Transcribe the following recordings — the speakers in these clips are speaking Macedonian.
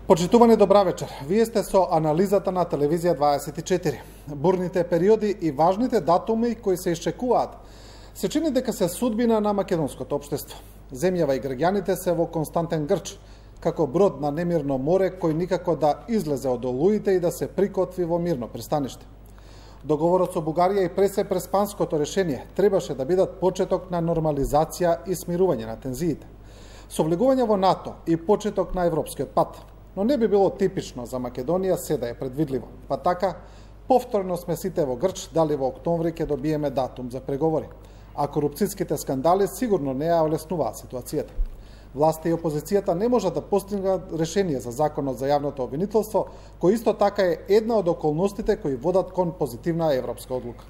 Почитувани, добра вечер. Вие сте со анализата на Телевизија 24. Бурните периоди и важните датуми кои се исчекуваат се чини дека се судбина на македонското општество. Земјава и граѓаните се во константен грч, како брод на немирно море кој никако да излезе од олуите и да се прикотви во мирно пристаниште. Договорот со Бугарија и преспанското решение требаше да бидат почеток на нормализација и смирување на тензиите. Со влегување во НАТО и почеток на европскиот пат, но не би било типично за Македонија се да е предвидливо. Па така, повторно сме сите во грч, дали во октомври ќе добиеме датум за преговори, а корупцијските скандали сигурно не ја олеснуваат ситуацијата. Власта и опозицијата не можат да постигнат решение за законот за јавното обвинителство, кој исто така е една од околностите кои водат кон позитивна европска одлука.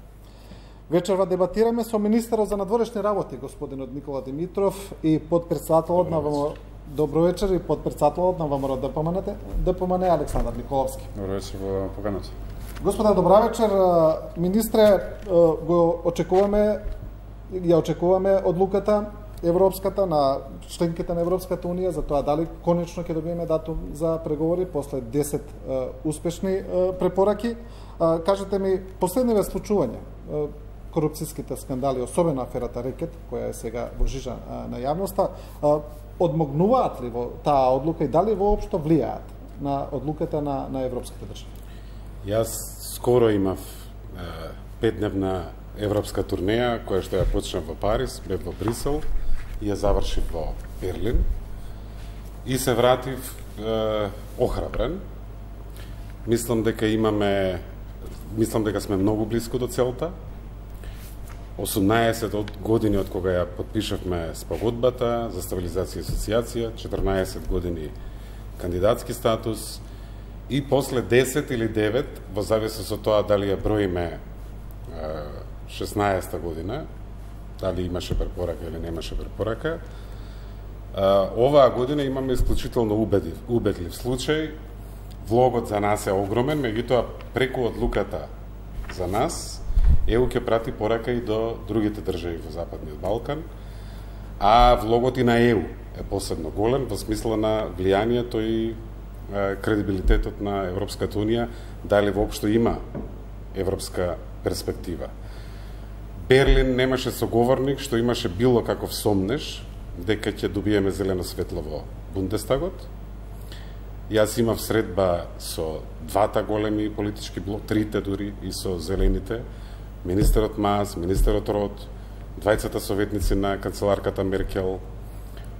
Вечерва дебатираме со министерот за надворешни работи, господинот Никола Димитров, и подпредседателот на ВМРО. Добро вечер, и подпредседателот на ВМРО ДПМН Александар Николовски. Добро вечер во поканата. Господа, добра вечер. Министре, ја очекуваме одлуката европската на членките на Европската унија за тоа дали конечно ќе добиеме датум за преговори после 10 успешни препораки. Кажете ми, последниве случувања, корупцијските скандали, особено аферата Рекет, која е сега во жижа на јавноста, одмогнуваат ли во таа одлука и дали воопшто влијаат на одлуката на европските држави? Јас скоро имав 5-дневна европска турнеја, која што ја почнав во Париз, бев во Брисел и ја завршив во Берлин. И се вратив охрабрен. Мислам дека сме многу близко до целта. 18 години од кога ја подпишавме спогодбата за стабилизација и асоциација, 14 години кандидатски статус и после 10 или 9, во зависност од тоа дали ја броиме 16-та година, дали имаше препорака или немаше препорака, оваа година имаме исклучително убедлив случај. Влогот за нас е огромен, меѓутоа преку одлуката за нас ЕУ ќе прати порака и до другите држави во Западниот Балкан, а влогот и на ЕУ е посебно голем во смисла на влијанието и кредибилитетот на Европската унија, дали воопшто има европска перспектива. Берлин немаше соговорник што имаше било каков сомнеш дека ќе добиеме зелено светло во Бундестагот. Јас имав средба со двата големи политички блок, трите дури, и со зелените, министерот Маас, министерот Рот, двајцата советници на канцеларката Меркел,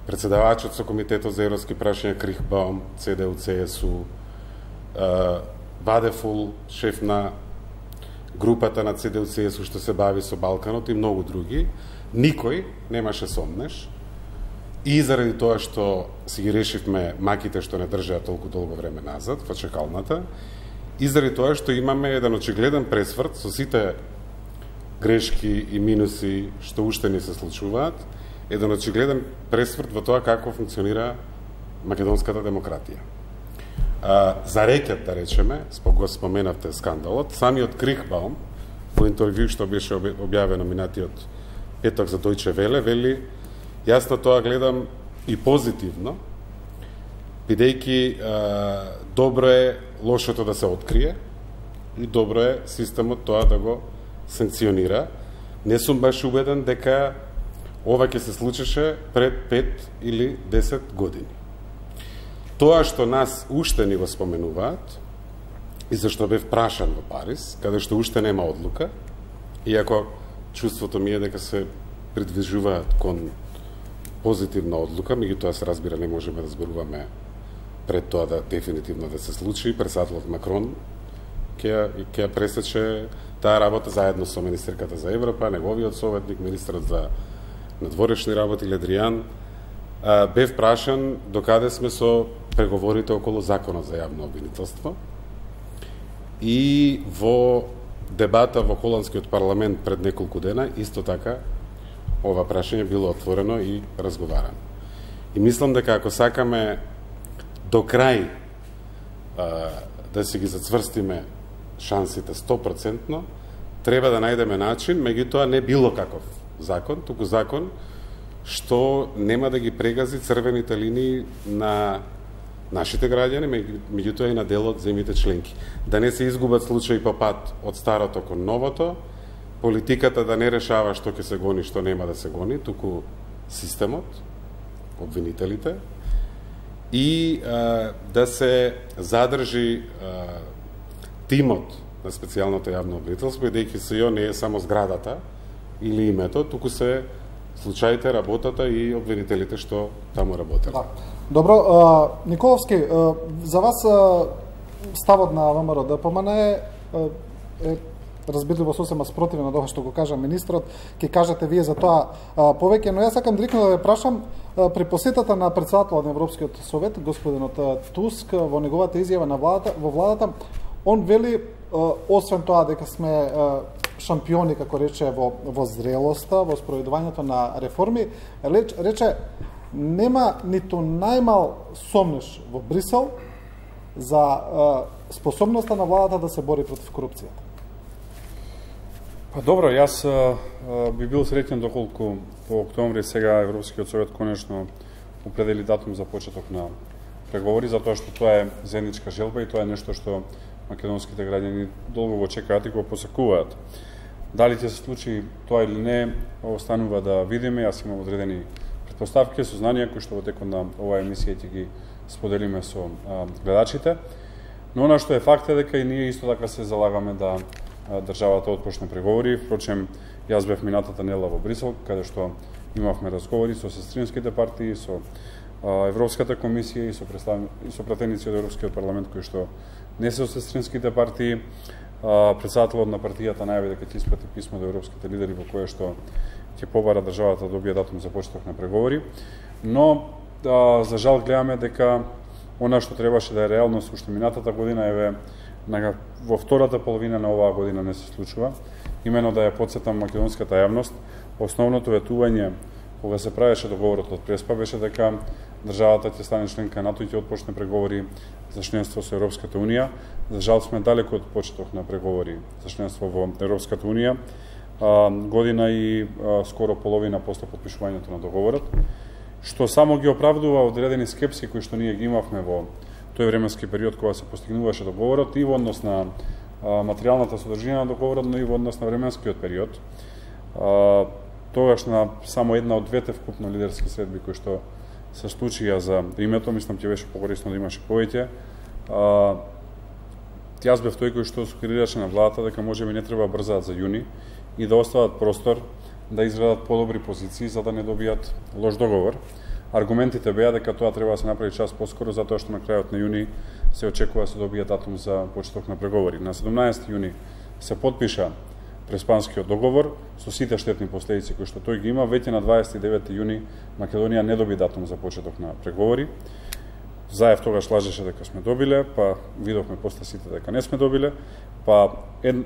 председавачот со Комитетот за европски прашања Крихбаум, ЦДУ, ЦСУ, Вадефул, шеф на групата на ЦДУ, ЦСУ што се бави со Балканот и многу други. Никој немаше сомнеш. И заради тоа што си ги решивме маките што не држаат толку долго време назад во чекалната, и заради тоа што имаме еден очигледен пресврт со сите грешки и минуси што уште не се случуваат, еден очигледен пресврт во тоа како функционира македонската демократија. За Рекет, да речеме, го споменавте скандалот, самиот Крихбаум во интервју што беше објавено минатиот петок за Дојче Веле, вели: јас на тоа гледам и позитивно, бидејќи добро е лошото да се открие и добро е системот тоа да го санкционира. Не сум баш убеден дека ова ќе се случеше пред 5 или 10 години. Тоа што нас уште ни го споменуваат, и зашто бев прашан во Париз, каде што уште нема одлука, иако чувството ми е дека се придвижуваат кон позитивна одлука, меѓутоа се разбира не можеме да зборуваме пред тоа да дефинитивно да се случи. Председателот Макрон ќе ја пресече таа работа заедно со министерката за Европа, неговиот советник, министерот за надворешни работи Ледријан. Бев прашан докаде сме со преговорите околу законот за јавно обвинителство. И во дебата во холандскиот парламент пред неколку дена, исто така, ова прашање било отворено и разговарано. И мислам дека ако сакаме до крај да си ги зацврстиме шансите 100%, треба да најдеме начин, меѓутоа не било каков закон, туку закон што нема да ги прегази црвените линии на нашите граѓани, меѓутоа и на дел од земјите членки. Да не се изгубат случаи по пат од старото кон новото, политиката да не решава што ќе се гони, што нема да се гони, туку системот, обвинителите, и да се задржи тимот на специјалното јавно обвинителство, бидејќи СЈО не е само зградата или името, туку се случаите, работата и обвинителите што таму работат. Да. Добро, Николовски, за вас ставот на ВМРО ДПМН е разбирливо сосема спротивен од ова што го кажа министрот, ќе кажете вие за тоа повеќе, но јас сакам директно да ве прашам, при посетата на председателот на Европскиот совет, господинот Туск, во неговата изјава во владата, он вели, освен тоа дека сме шампиони, како рече, во зрелоста, во спроведувањето на реформи, рече, нема ниту најмал сомнеш во Брисел за способноста на владата да се бори против корупцијата. Па добро, јас би бил среќен доколку во октомври сега Европскиот совет конечно определи датум за почеток на преговори, затоа што тоа е заедничка желба и тоа е нешто што македонските граѓани долго го чекаат и го посекуваат. Дали ќе се случи тоа или не, останува да видиме. Јас имам одредени претпоставки, сознанија кои што во текот на оваа емисија ќе ги споделиме со гледачите. Но она што е факт е дека и ние исто така се залагаме да државата отпочне преговори. Впрочем, јас бев минатата недела во Брисел, каде што имавме разговори со сестринските партии, со Европската комисија и со пратеници од Европскиот парламент кои што не се од сестринските партии. Председателот на партијата најави дека ќе испрати писмо до европските лидери во кое што ќе побара државата да добие датум за почеток на преговори. Но за жал гледаме дека она што требаше да е реалност уште минатата година еве во втората половина на оваа година не се случува. Имено да ја потсетам македонската јавност, основното ветување кога се правеше договорот од Преспа беше дека државата ќе стане членка НАТО и ќе отпочне преговори за членство со Европската унија. За жал сме далеку од почеток на преговори за членство во Европската унија, година и скоро половина после потпишувањето на договорот, што само ги оправдува одредени скепси кои што ние ги имавме во тој временски период кога се постигнуваше договорот и во однос на материјалната содржина на договорот, но и во однос на временскиот период. Тогаш на само една од двете вкупно лидерски средби кои што се случија за името, мислам ќе беше покорисно да имаше повеќе. Јас бев тој кој што сугерираше на владата дека можеби не треба брзаат за јуни и да остават простор да изградат подобри позиции за да не добијат лош договор. Аргументите беа дека тоа треба да се направи час поскоро затоа што на крајот на јуни се очекува да се добие датум за почеток на преговори. На 17 јуни се потпиша Преспанскиот договор со сите штетни последици кои што тој ги има. Веќе на 29 јуни Македонија не доби датум за почеток на преговори. Заев тогаш лажеше дека сме добиле, па видовме после сите дека не сме добиле, па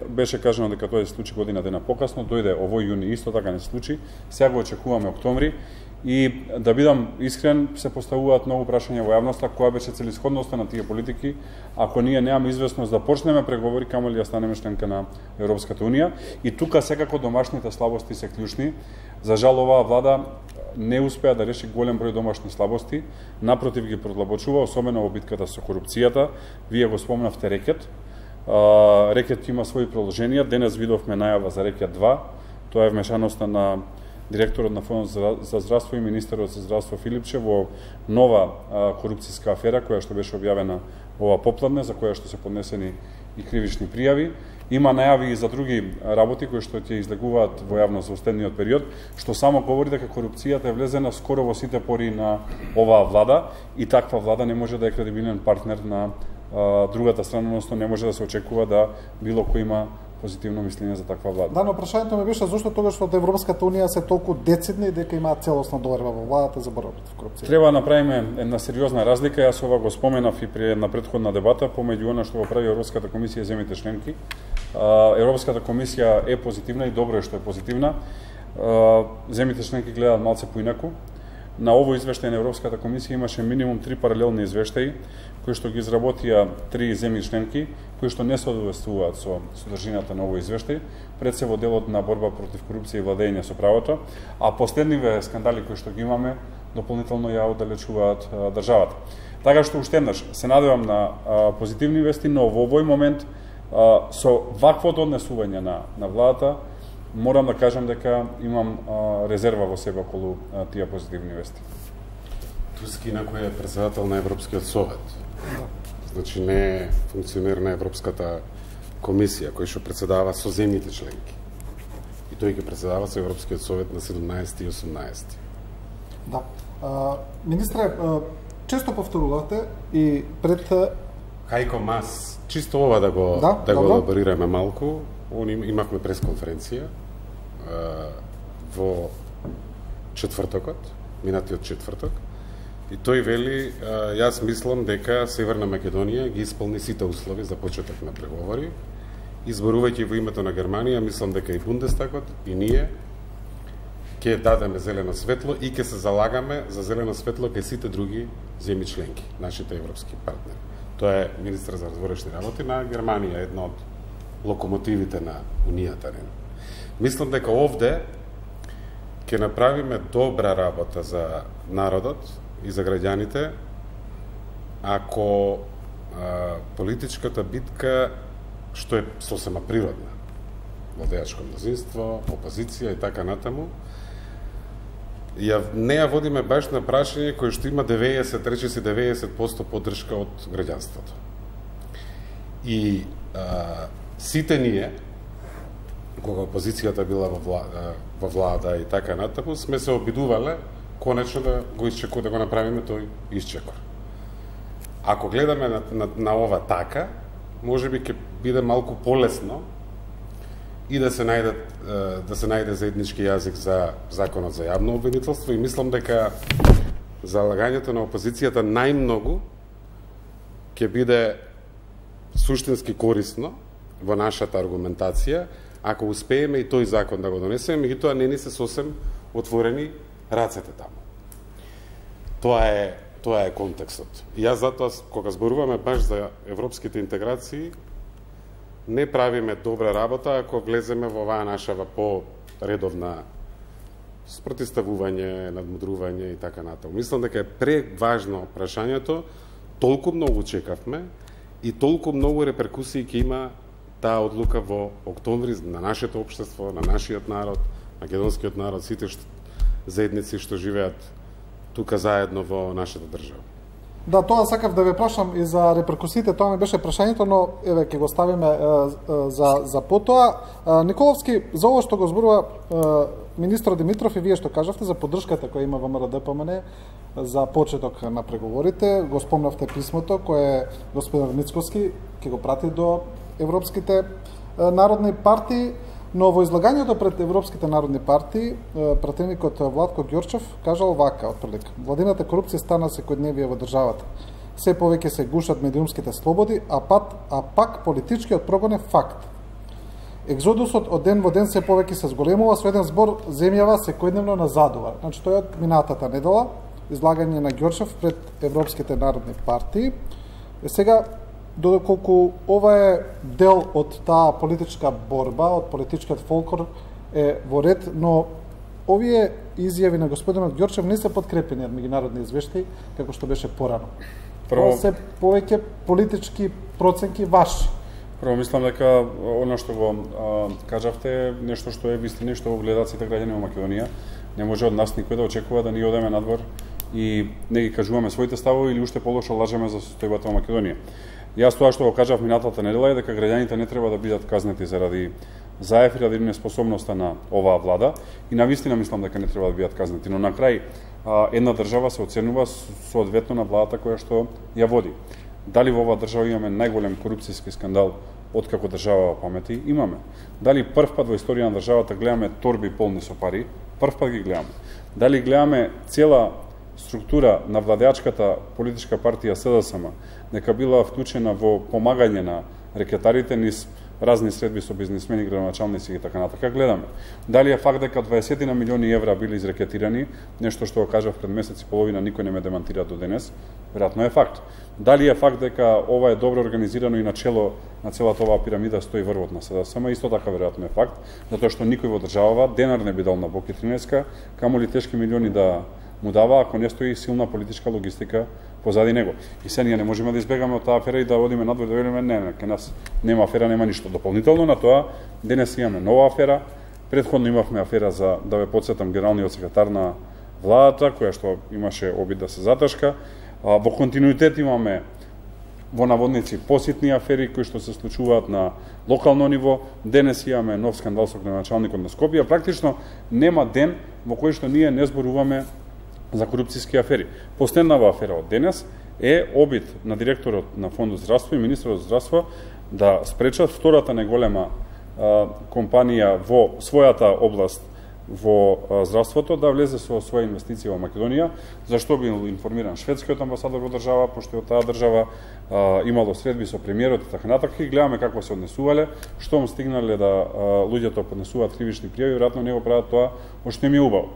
беше кажано дека тоа се случи година дена покасно, дојде овој јуни исто така не се случи. Сега го очекуваме октомври. И да бидам искрен, се поставуваат многу прашања во јавноста која беше целисходноста на тие политики ако ние немаме известност да почнеме преговори, камо ли да станеме членка на Европската унија. И тука секако домашните слабости се клучни. За жал оваа влада не успеа да реши голем број домашни слабости, напротив ги продлабочува, особено во битката со корупцијата. Вие го спомнавте рекет. Рекет има своји продолженија. Денес видовме најава за рекет 2. Тоа е вмешаноста на директорот на Фондот за здравство и министерот за здравство Филипче во нова корупцијска афера која што беше објавена ова попладне, за која што се поднесени и кривични пријави. Има најави и за други работи кои што ќе излегуваат во јавност во следниот период, што само говори дека корупцијата е влезена скоро во сите пори на оваа влада и таква влада не може да е кредибилен партнер на другата страна, односно не може да се очекува да било кој има позитивно мислење за таква влада. Да, но прашањето ми беше зошто тогаш што од Европската унија се толку децидни дека имаат целосна доверба во владата за борба против корупција. Треба да направиме една сериозна разлика. Јас ова го споменав и при една претходна дебата помеѓу она што го прави Европската комисија и земјите членки. Европската комисија е позитивна и добро е што е позитивна. Земјите членки гледаат малце поинаку. На овој извештај на Европската комисија имаше минимум 3 паралелни извештаи кои што ги изработија 3 земји членки кои што не соодветствуваат со содржината на овој извештај, пред се во делот на борба против корупција и владење со правото, а последниве скандали кои што ги имаме дополнително ја оддалечуваат државата. Така што уште еднаш се надевам на позитивни вести, но во овој момент со ваквото однесување на владата морам да кажам дека имам резерва во себе околу тие позитивни вести. Туски кој е председател на Европскиот совет. Значи не е функционер на Европската комисија кој што председава со земјите членки. И тој ќе председава со Европскиот совет на 17 и 18. Да. Министре, често повторувате и пред Хајко Мас, чисто ова да го елаборираме малку, имавме пресконференција во четвртокот, минатиот четврток, и тој вели, јас мислам дека Северна Македонија ги исполни сите услови за почеток на преговори, изборувајќи во името на Германија, мислам дека и Бундестагот, и ние ќе дадеме зелено светло и ќе се залагаме за зелено светло кај сите други земји членки, нашите европски партнери. Тоа е министр за надворешни работи на Германија, една од локомотивите на Унијата. Мислам дека овде ќе направиме добра работа за народот и за граѓаните ако политичката битка, што е сосема природна, владеачко мнозинство, опозиција и така натаму, не ја водиме баш на прашање кој што има 90% поддршка од граѓанството. И сите ние, кога опозицијата била во влада и така натаму, сме се обидувале конечно да го направиме тој исчекор. Ако гледаме на ова така, можеби ќе биде малку полесно и да се најде заеднички јазик за законот за јавно обвинителство, и мислам дека залагањето на опозицијата најмногу ќе биде суштински корисно во нашата аргументација ако успееме и тој закон да го донесеме, меѓутоа не ни се сосем отворени рацете таму. Тоа е контекстот. И јас затоа, кога зборуваме баш за европските интеграции, не правиме добра работа ако влеземе во оваа наша по-редовна спротивставување, надмудрување и така натаму. Мислам дека е преважно прашањето, толку многу чекавме и толку многу реперкусии ќе има таа одлука во октомври на нашето општество, на нашиот народ, македонскиот народ, сите заедници што живеат тука заедно во нашата држава. Да, тоа сакав да ве прашам и за реперкусиите, тоа ми беше прашањето, но еве ќе го ставиме за потоа. Николовски, за ова што го зборува министр Димитров и вие што кажавте за поддршката која има ВМРО ДПМН за почеток на преговорите, го спомнавте писмото кое господин Мицкоски ќе го прати до европските народни партии, но во излагањето пред европските народни партии, пратеникот Владко Ѓорчев кажал вака, отприлик: владината корупција стана секојдневие во државата. Се повеќе се гушат медиумските слободи, а пак политичкиот прогон е факт. Екзодусот од ден во ден се повеќе се зголемува, со еден збор земјава секојдневно назадува. Значи, тој од минатата недела, излагање на Ѓорчев пред европските народни партии. Сега, додоколку ова е дел од таа политичка борба, од политичкиот фолклор е во ред, но овие изјави на господинот Ѓорчев не се подкрепени од меѓународни извештаи, како што беше порано. Прво се повеќе политички проценки ваши. Прво мислам дека она што го кажавте е нешто што е вистина, што го гледаат сите граѓани во Македонија. Не може од нас никој да очекува да ни одеме надвор и не ги кажуваме своите ставови или уште полошо лажеме за состојбата во Македонија. Јас тоа што го кажав минатата недела е дека граѓаните не треба да бидат казнети заради заев или неспособноста на оваа влада, и навистина мислам дека не треба да бидат казнети, но на крај една држава се оценува соодветно на владата која што ја води. Дали во оваа држава имаме најголем корупцијски скандал откако држава памети? Имаме. Дали прв пат во историја на државата гледаме торби полни со пари? Прв пат ги гледаме. Дали гледаме цела структура на владеачката политичка партија СДСМ нека била вклучена во помагање на рекетарите низ разни средби со бизнисмени, градоначалници и така натака, гледаме. Дали е факт дека 20 на милиони евра били изрекетирани, нешто што го кажав пред месец и половина, никој не ме демантира до денес, веројатно е факт. Дали е факт дека ова е добро организирано и начело на целата оваа пирамида стои врвот на СДСМ, исто така веројатно е факт, затоа што никој во државава денар не би дал на Боки 13, камоли тешки милиони да му дава ако не стои силна политичка логистика позади него. И се ние не можеме да избегаме од таа афера и да одиме надвор да велиме не, ке нас нема афера, нема ништо. Дополнително на тоа, денес имаме нова афера. Претходно имавме афера за, да ве подсетам, генералниот секретар на владата, која што имаше обид да се заташка. Во континуитет имаме во наводници поситни афери кои што се случуваат на локално ниво. Денес имаме нов скандал со градоначалникот на Скопје. Практично нема ден во кој што ние не зборуваме за корупцијски афери. Последнава афера од денес е обид на директорот на Фондот здравство и министерот здравство да спречат втората најголема компанија во својата област во здравството да влезе со своја инвестиција во Македонија, зашто бил информиран шведскиот амбасадор во држава, пошто од таа држава имало средби со премиерот и така натаму, и гледаме како се однесувале, штом стигнале да луѓето поднесуваат кривични пријави, веројатно него прават тоа што им е убаво.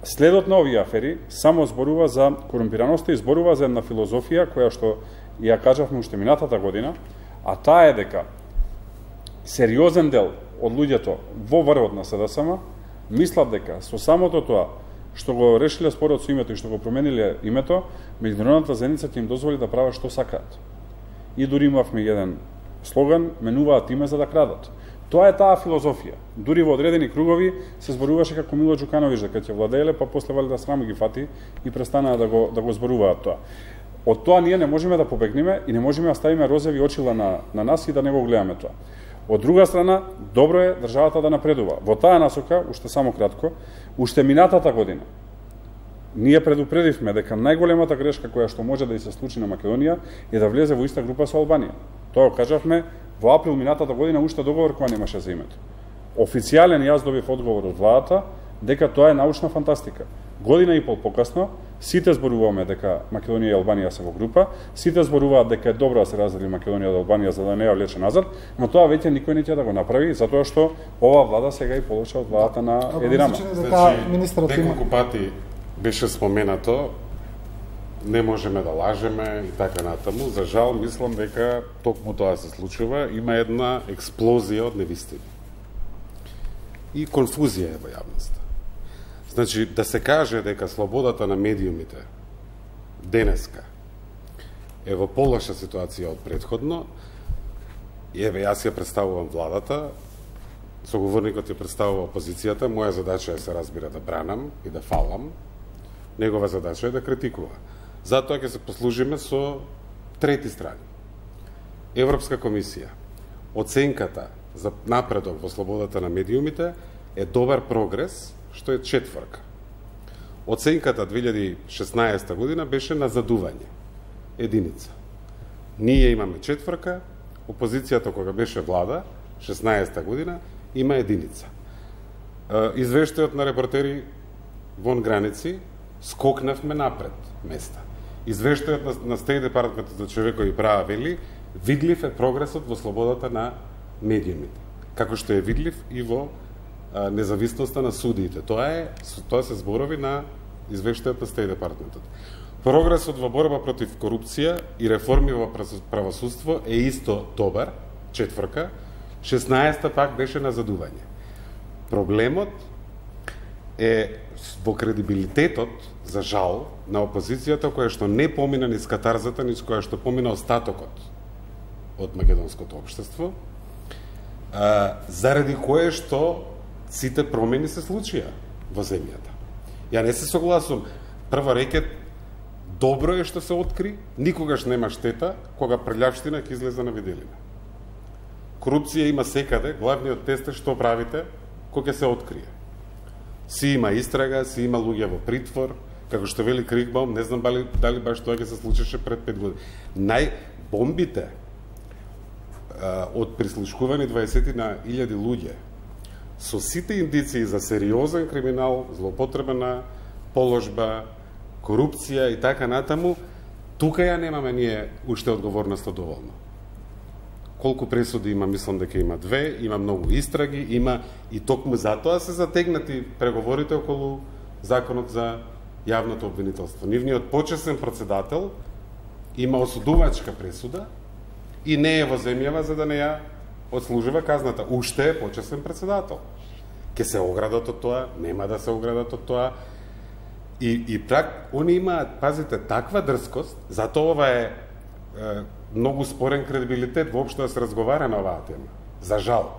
Следот на овие афери само зборува за корумпираноста и зборува за една филозофија која што ја кажавме уште минатата година, а таа е дека сериозен дел од луѓето во врвот на СДСМ мислат дека со самото тоа што го решиле спорот со името и што го промениле името, меѓународната заедница ќе им дозволи да прават што сакаат. И дури имавме еден слоган, менуваат име за да крадат. Тоа е таа филозофија. Дури во одредени кругови се зборуваше како Мило Џукановиќ дека ќе владееле, па после вали да срам ги фати и престанаа да го зборуваат тоа. Од тоа ние не можеме да побегнеме и не можеме да ставиме розови очила на нас и да не го гледаме тоа. Од друга страна, добро е државата да напредува. Во таа насока, уште само кратко, уште минатата година, ние предупредивме дека најголемата грешка која што може да и се случи на Македонија е да влезе во иста група со Албанија. Тоа кажавме во април минатата година, уште договор која немаше за името. Официјален јас добив одговор од владата дека тоа е научна фантастика. Година и пол покасно, сите зборуваме дека Македонија и Албанија се во група, сите зборуваат дека е добро да се раздели Македонија од Албанија за да не ја влече назад, но тоа веќе никој не ќе да го направи, затоа што ова влада сега и получа од владата на Еди Рама. Значи, неколку пати беше споменато, не можеме да лажеме и така натаму. За жал, мислам дека токму тоа се случува, има една експлозија од невистини. И конфузија е во јавноста. Значи, да се каже дека слободата на медиумите денеска е во полоша ситуација од предходно, еве, јас ја представувам владата, соговорникот ја представува опозицијата, моја задача е се разбира да бранам и да фалам, негова задача е да критикува. Затоа ќе се послужиме со трети страни. Европска комисија, оценката за напредок во слободата на медиумите е добар прогрес, што е 4. Оценката 2016 година беше на задување, 1. Ние имаме 4, опозицијата кога беше влада, 16 година, има 1. Извештајот на репортери вон граници, скокнавме напред места. Извештајот на State Department за човекови права вели, видлив е прогресот во слободата на медиумите, како што е видлив и во независноста на судиите. Тоа се зборови на извештајот на State Department. Прогресот во борба против корупција и реформи во правосудство е исто добар, 4. 16 пак беше на задување. Проблемот е во кредибилитетот, за жал, на опозицијата која што не помина низ катарзата, низ која што помина остатокот од македонското општество, заради кое што сите промени се случија во земјата. Ја не се согласувам. Прво рекет, добро е што се откри, никогаш нема штета кога прљавштина ќе излезе на виделина. Корупција има секаде, главниот тест е што правите кога ќе се открие. Си има истрага, си има луѓе во притвор, како што вели Кригбаум, не знам дали баш тоа ќе се случеше пред 5 години. Бомбите од прислушкувани 20.000 луѓе со сите индиции за сериозен криминал, злоупотреба на положба, корупција и така натаму, тука ја немаме ние уште одговорноста доволно. Колку пресуди има, мислам дека има 2, има многу истраги, има и токму затоа се затегнати преговорите околу законот за јавното обвинителство. Нивниот почесен претседател има осудувачка пресуда и не е во земјава за да не ја одслужува казната. Уште е почесен претседател. Ке се оградат од тоа, нема да се оградат од тоа. И они имаат, пазите, таква дрскост, затоа ова е многу спорен кредибилитет воопшто да се разговара на оваа тема. За жал.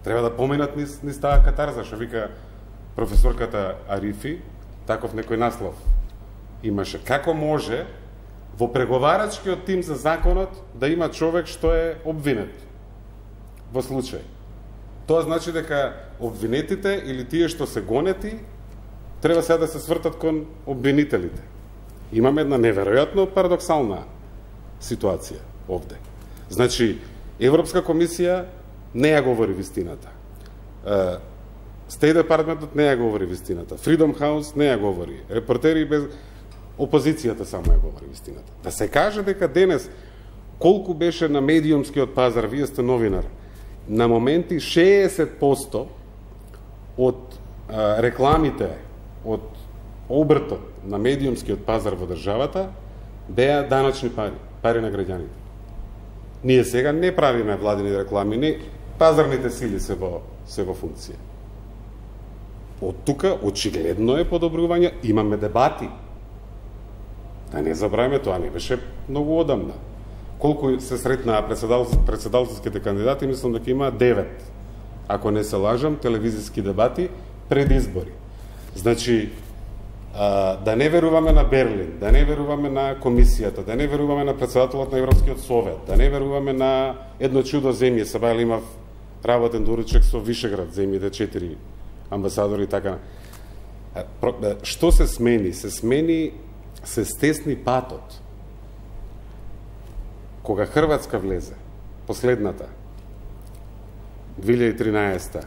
Треба да поминат низ таа катарза, што вика професорката Арифи, таков некој наслов имаше. Како може во преговарачкиот тим за законот да има човек што е обвинет во случај? Тоа значи дека обвинетите или тие што се гонети треба сега да се свртат кон обвинителите. Имаме една неверојатно парадоксална ситуација овде. Значи, Европска комисија не ја говори вистината. State Department не ја говори вистината. Freedom House не ја говори. Репортери без... Опозицијата само ја говори вистината. Да се каже дека денес колку беше на медиумскиот пазар, вие сте новинар, на моменти 60% од рекламите, од обртот на медиумскиот пазар во државата беа даночни пари на граѓаните. Ние сега не правиме владини реклами, не, пазарните сили се во функција. Од тука очигледно е подобрување, имаме дебати. Да не забравиме, тоа не беше многу одамна. Колку се сретнаа председателските кандидати, мислам дека има 9, ако не се лажам, телевизиски дебати пред избори. Значи, да не веруваме на Берлин, да не веруваме на комисијата, да не веруваме на председателот на Европскиот совет, да не веруваме на едно чудо земје, сабајле имав работен доручек со Вишеград, земјите 4 амбасадори и така. Што се смени? Се стесни патот. Кога Хрватска влезе, последната, 2013,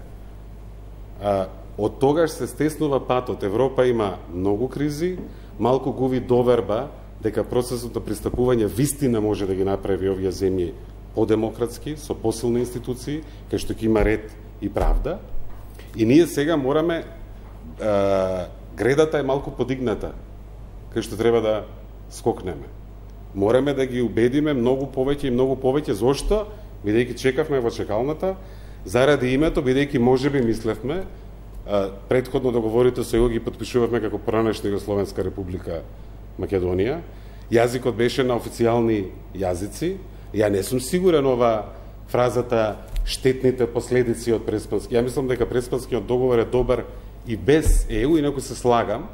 од тогаш се стеснува патот. Европа има многу кризи, малку губи доверба дека процесот на пристапување вистина може да ги направи овие земји подемократски, со посилни институции, кај што ќе има ред и правда. И ние сега мораме, гредата е малку подигната, кај што треба да скокнеме. Мораме да ги убедиме многу повеќе. Зошто? Бидејќи чекавме во чекалната, заради името, бидејќи можеби мислевме, предходно договорите со ги подпишувавме како поранешна Југословенска република Македонија. Јазикот беше на официјални јазици. Ја не сум сигурен ова фразата штетните последици од Преспански. Ја мислам дека Преспанскиот договор е добар и без ЕУ, инаку се слагам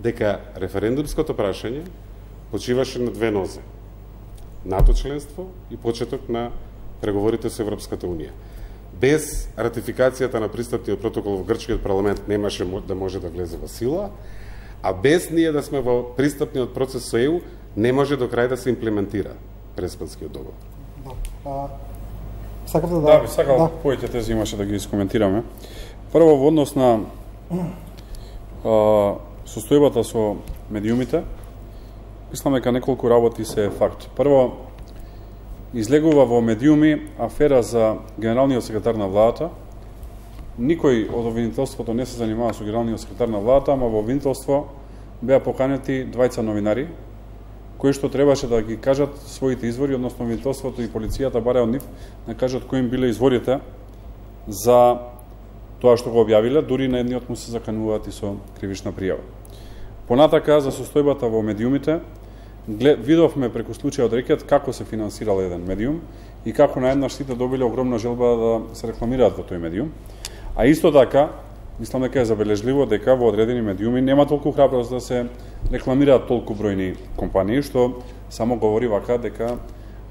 дека референдумското прашање почиваше на две нозе. НАТО членство и почеток на преговорите со Европската Унија. Без ратификацијата на пристапниот протокол во грчкиот парламент немаше да може да влезе во сила, а без ние да сме во пристапниот процес со ЕУ не може до крај да се имплементира Преспанскиот договор. Сакавте да... би сакал повеќе тези имаше да ги искоментираме. Прво, во однос на состојбата со медиумите, мислам дека неколку работи се факт. Прво, излегува во медиуми афера за генералниот секретар на владата. Никој од обвинителството не се занимава со генералниот секретар на владата, ама во обвинителство беа поканети двајца новинари, кои што требаше да ги кажат своите извори, односно обвинителството и полицијата бараја од нив да кажат кои им биле изворите за тоа што го објавиле, дури на едниот му се закануваат и со кривична пријава. Понатака, за состојбата во медиумите, видовме преку случајот Рекет како се финансирал еден медиум и како наеднаш сите добиле огромна желба да се рекламираат во тој медиум. А исто така, мислам дека е забележливо дека во одредени медиуми нема толку храброст да се рекламираат толку бројни компании, што само говори вака дека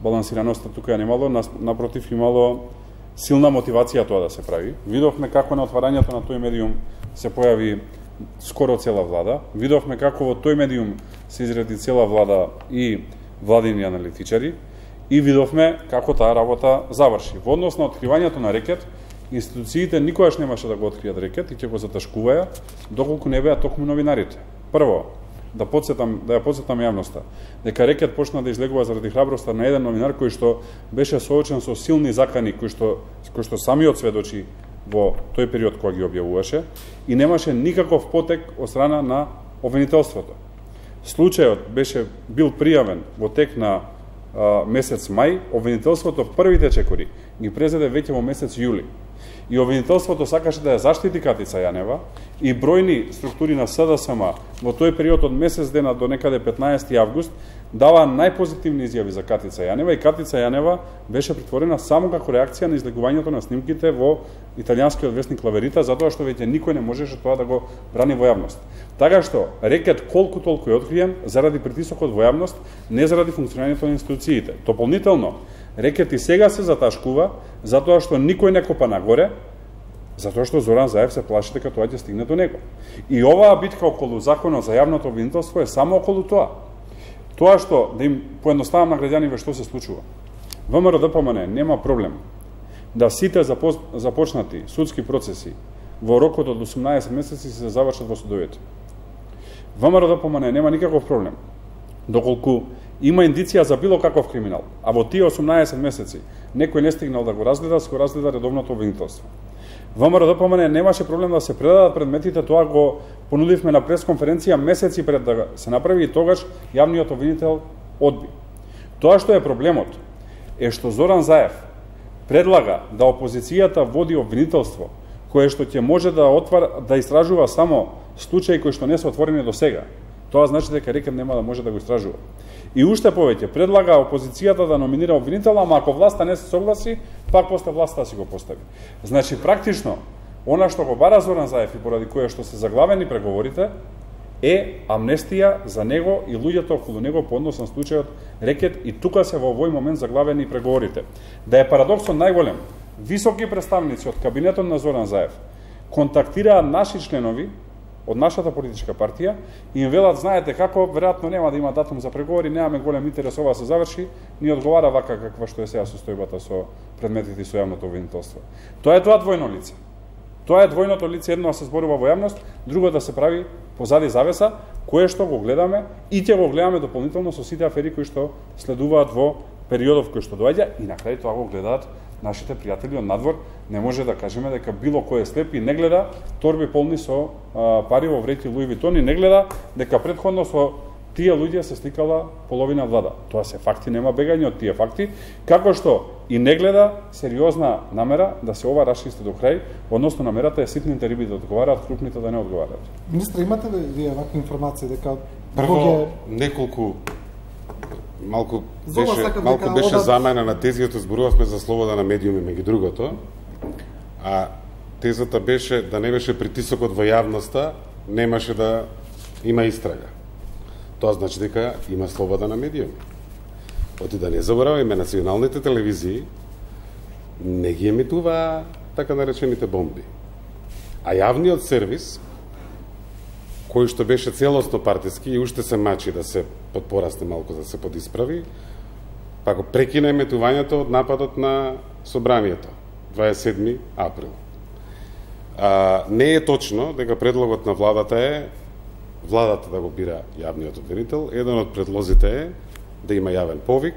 балансираноста тука ја немало, напротив имало силна мотивација тоа да се прави. Видовме како на отварањето на тој медиум се појави скоро цела влада. Видовме како во тој медиум се изради цела влада и владини аналитичари и видовме како таа работа заврши. Во однос на откривањето на Рекет, институциите никогаш немаше да го откријат Рекет и ќе го заташкуваја доколку не беа токму новинарите. Прво, да ја подсетам јавноста, дека Рекет почна да излегува заради храброста на еден новинар кој што беше соочен со силни закани, кој што самиот сведочи во тој период кога ги објавуваше и немаше никаков потек од страна на обвинителството. Случајот бил пријавен во тек на месец мај, обвинителството првите чекори ги презеде веќе во месец јули. и обвинителството сакаше да ја заштити Катица Јанева, и бројни структури на СДСМ во тој период од месец дена до некаде 15 август дава најпозитивни изјави за Катица Јанева, и Катица Јанева беше притворена само како реакција на излегувањето на снимките во италијанскиот весник Лаверита, затоа што веќе никој не можеше тоа да го брани во јавност. Така што рекет колку толку е откриен заради притисокот во јавност, не заради функционирањето на институциите. Дополнително, рекет и сега се заташкува затоа што никој не копа нагоре, затоа што Зоран Заев се плаши дека тоа ќе стигне до него. И оваа битка околу законот за јавното обвинителство е само околу тоа. Тоа што, да им поедноставам на граѓаниве што се случува. ВМРО ДПМН нема проблем да сите започнати судски процеси во рокот од 18 месеци се завршат во судовите. ВМРО ДПМН нема никаков проблем доколку има индиција за било каков криминал, а во тие 18 месеци некој не стигнал да го разгледа, се го разгледа редовното обвинителство. ВМРО ДПМН немаше проблем да се предадат предметите, тоа го понудивме на пресконференција месеци пред да се направи, и тогаш јавниот обвинител одби. Тоа што е проблемот е што Зоран Заев предлага да опозицијата води обвинителство кое што ќе може да истражува само случаи кои што не се отворени до сега. Тоа значи дека рекет нема да може да го истражува. И уште повеќе, предлага опозицијата да номинира обвинител, ама ако власта не се согласи, пак после власта си го постави. Значи, практично, она што го бара Зоран Заев и поради кое што се заглавени преговорите, е амнестија за него и луѓето околу него по однос на случајот рекет, и тука се во овој момент заглавени преговорите. Да е парадоксот најголем, високи представници од кабинетот на Зоран Заев контактираа наши членови од нашата политичка партија и им велат, знаете како, веројатно нема да има датум за преговори, немаме голем интерес ова се заврши, ни одговара вака каква што е сега состојбата со предметите и со јавното обвинителство. Тоа е тоа двојно лице. Тоа е двојното лице, едно да се зборува во јавност, друго да се прави позади завеса, кое што го гледаме и ќе го гледаме дополнително со сите афери кои што следуваат во периодов кој што доаѓа, и на крај тоа го гледаат нашите пријатели од надвор. Не може да кажеме дека било кој е слеп и не гледа торби полни со пари во вреќи Луи Витон, и не гледа дека претходно со тие луѓе се сликала половина влада. Тоа се факти, нема бегање од тие факти, како што и не гледа сериозна намера да се ова расчисти до крај, односно намерата е ситните риби да одговараат, крупните да не одговараат. Министре, имате ли вие вакви информации дека прво неколку малку беше замена на тезијата, зборувавме за слобода на медиуми меѓу другото, а тезата беше да не беше притисокот во јавноста, немаше да има истрага. Тоа значи дека има слобода на медиуми. Оти да не забораваме, националните телевизии не ги емитуваа така наречените бомби. А јавниот сервис, кој што беше целосно партиски и уште се мачи да се подпорасне малку, да се подисправи, па го прекина еметувањето од нападот на собранието, 27 април. Не е точно дека предлогот на владата е владата да го бира јавниот обвинител. Еден од предлозите е да има јавен повик,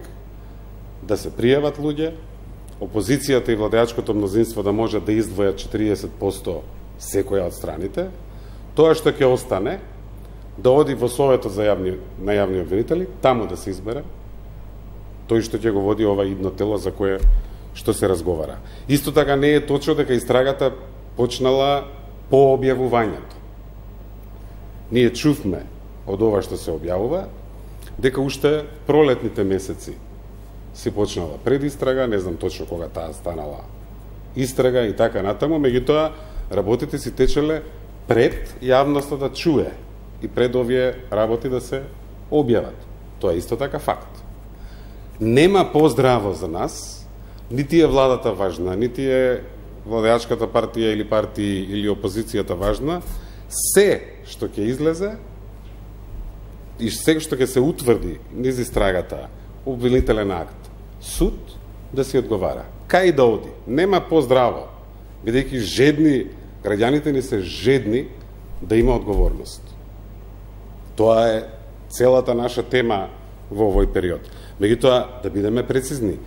да се пријават луѓе, опозицијата и владеачкото мнозинство да можат да издвојат 40% секоја од страните. Тоа што ќе остане, да оди во Советот на јавни обвинители, таму да се избере тој што ќе го води ова идно тело за кое што се разговара. Исто така не е точно дека истрагата почнала по објавувањето. Ние чувме од ова што се објавува, дека уште пролетните месеци се почнала предистрага, не знам точно кога таа станала истрага и така натаму, меѓутоа работите си течеле пред јавноста да чуе и пред овие работи да се објават. Тоа е исто така факт. Нема поздраво за нас, нити е владата важна, нити е владеачката партија или партии или опозицијата важна, се што ќе излезе и се што ќе се утврди низ истрагата, обвинителен акт, суд, да си одговара. Кај да оди? Нема поздраво, бидејќи жедни, граѓаните ни се жедни да има одговорност. Тоа е целата наша тема во овој период. Меѓутоа, да бидеме прецизни,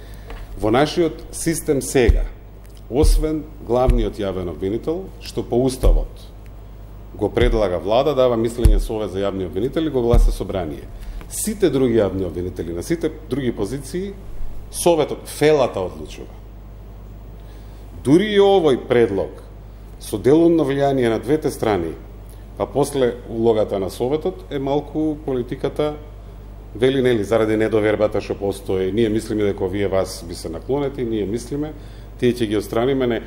во нашиот систем сега, освен главниот јавен обвинител, што по уставот го предлага влада, дава мислење совет за јавни обвинители, го гласа собрание. Сите други јавни обвинители на сите други позиции, советот, фелата одлучува. дури и овој предлог со делумно влијание на двете страни, а после улогата на Советот е малку политиката вели нели заради недовербата што постои, ние мислиме дека вие вас би се наклонети, ние мислиме, тие ќе ги отстраниме, не.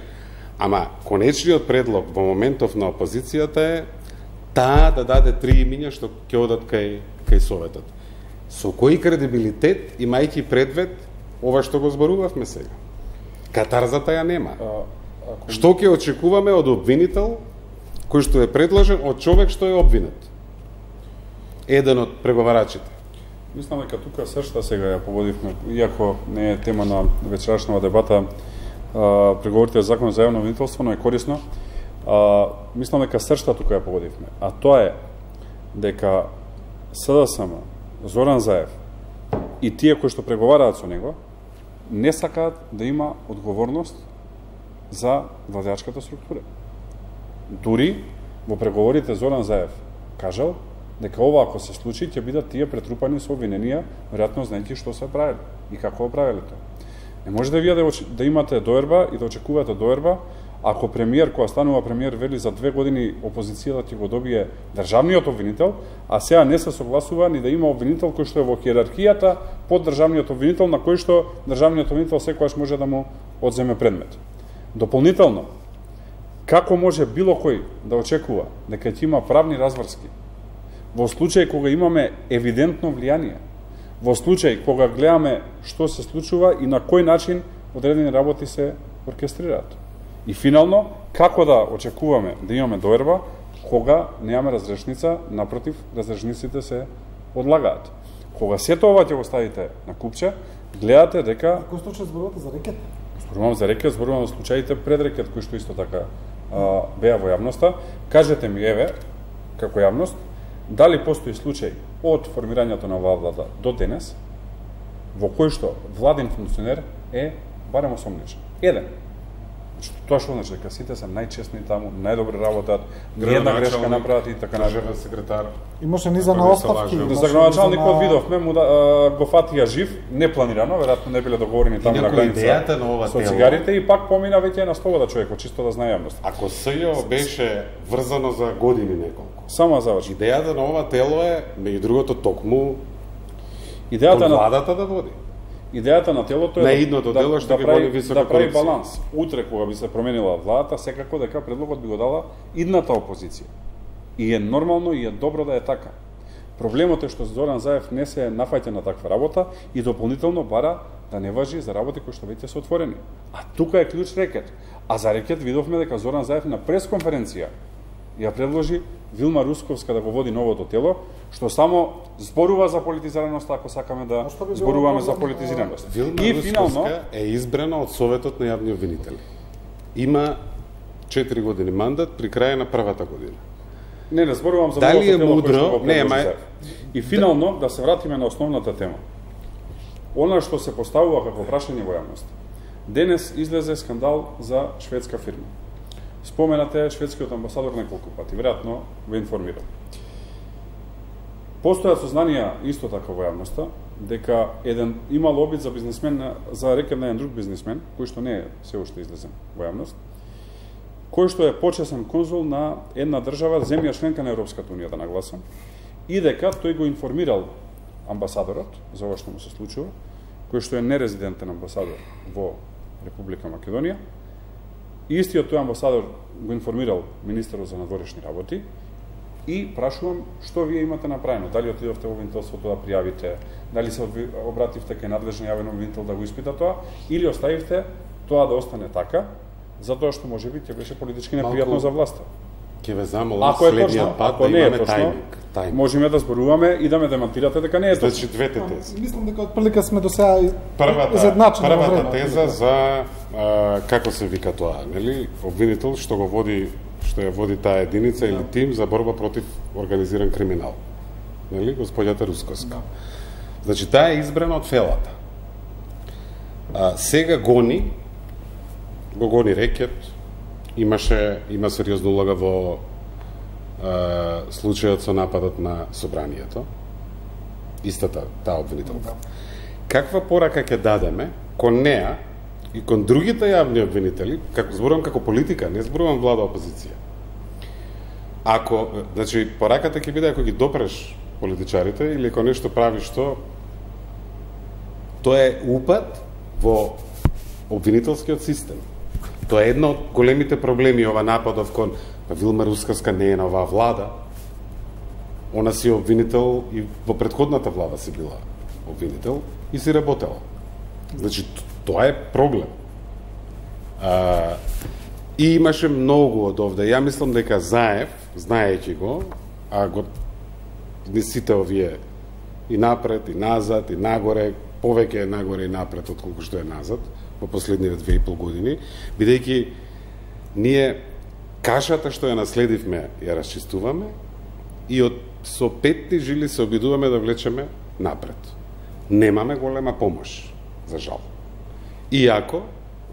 Ама конечниот предлог во моментов на опозицијата е таа да даде 3 имиња што ќе одат кај Советот. Со кој кредибилитет, имајќи предвид ова што го зборувавме сега? Катарзата ја нема. Што ќе очекуваме од обвинител кој што е предложен од човек што е обвинет? Еден од преговарачите. Мислам дека тука сршта сега ја поводивме, иако не е тема на вечерашнава дебата, преговорите за закон за јавно обвинителство, но е корисно. Мислам дека сршта тука ја поводивме. А тоа е дека СДСМ, Зоран Заев и тие кои што преговараат со него, не сакаат да има одговорност за владеачката структура. Дури во преговорите Зоран Заев кажал дека ова ако се случи ќе бидат тие претрупани со обвиненија, веројатно знаејќи што се правеле и како правеле тоа. Не може да вие да имате доерба и да очекувате доерба ако премиер која станува премиер вели за 2 години опозицијата ќе го добие државниот обвинител, а сега не се согласува ни да има обвинител кој што е во хиерархијата под државниот обвинител, на кој што државниот обвинител секогаш може да му одземе предмет. Дополнително, како може било кој да очекува дека ќе има правни разврски во случај кога имаме евидентно влијание, во случај кога гледаме што се случува и на кој начин одредени работи се оркестрираат. И финално, како да очекуваме да имаме доерба кога немаме разрешница, напротив, разрешниците се одлагаат. Кога сето ова ќе го ставите на купче, гледате дека... Кој случај зборувате за рекет? Зборувам за рекет, зборувам за случаите пред рекет, кои што исто така беа во јавноста. Кажете ми, еве, како јавност, дали постои случај од формирањето на оваа влада до денес, во кој што владин функционер е барем осомничен. Еден. Тоа што значи дека сите се најчестни таму, најдобро работат, ниједна грешка направат и така државен секретар. Имаше низа на оставки. За градоначалникот видовме го фатија жив, непланирано, веројатно не биле договорени таму на граница со цигарите и пак помина веќе на слобода човекот, чисто да знае јавност. Ако СЈО беше врзано за години неколку. Само заврши. Идејата на ова тело е, меѓу другото, токму идејата на владата да води. Идејата на телото е да прави баланс. Утре кога би се променила владата, секако дека предлогот би го дала идната опозиција. И е нормално и е добро да е така. Проблемот е што Зоран Заев не се нафаќа на таква работа и дополнително бара да не важи за работи кои што веќе се отворени. А тука е клjuč рекет. А за рекет видовме дека Зоран Заев на пресконференција ја предложи Вилма Русковска да го води новото тело, што само зборува за политизираност, ако сакаме да зборуваме за политизираност. Вилма Русковска е избрана од Советот на јавни обвинители. Има 4 години мандат при крај на првата година. Не зборувам за новото тело кој што го предложи. И финално, да се вратиме на основната тема. Она што се поставува како прашање во јавност. Денес излезе скандал за шведска фирма. Споменате шведскиот амбасадор неколку пати, веројатно го информирам. Постојат сознанија исто така во јавноста дека еден имал обид за бизнисмен, за рекет на еден друг бизнисмен, кој што не е се уште излезен во јавност, кој што е почесен конзул на една држава, земја членка на Европската унија, да нагласам, и дека тој го информирал амбасадорот за ова што му се случува, кој што е нерезидентен амбасадор во Република Македонија. Истиот тој амбасадор го информирал министерот за надворешни работи и прашувам што вие имате направено, дали отидовте во обвинителството да пријавите, дали се обративте кај надлежен јавен обвинител да го испита тоа, или оставивте тоа да остане така, затоа што можеби ќе беше политички непријатно за власта. Ќе ве замолам следниот пат да имаме тајминг. Можеме да зборуваме и да ме демантирате дека не е точно. Значи двете тези. Мислам дека отприлика сме до сега изедначени. Првата теза за како се вика тоа, нели? Обвинител што го води, што ја води таа единица или тим за борба против организиран криминал. Нели? Господјата Русковска. Значи таа е избрана од фелата. Сега го гони рекет. Има сериозна улога во случајот со нападот на собранието. Истата таа обвинителка. Каква порака ќе дадеме кон неа, и кон другите јавни обвинители, како зборувам како политика, не зборувам влада опозиција. Ако, значи, пораката ќе биде ако ги допреш политичарите или ако нешто правиш тоа е упад во обвинителскиот систем. Тоа е едно од големите проблеми, ова нападов кон Вилма Рускавска не е на оваа влада. Она си обвинител и во претходната влада си била обвинител и си работела. Значи, тоа е проблем. И имаше многу од овде. Ја мислам дека Заев, знаејќи го, го не сите овие и напред, и назад, и нагоре, повеќе е нагоре и напред отколку што е назад во последниве 2,5 години, бидејќи ние кашата што ја наследивме ја расчистуваме и со петни жили се обидуваме да влечеме напред. Немаме голема помош, за жал. Иако,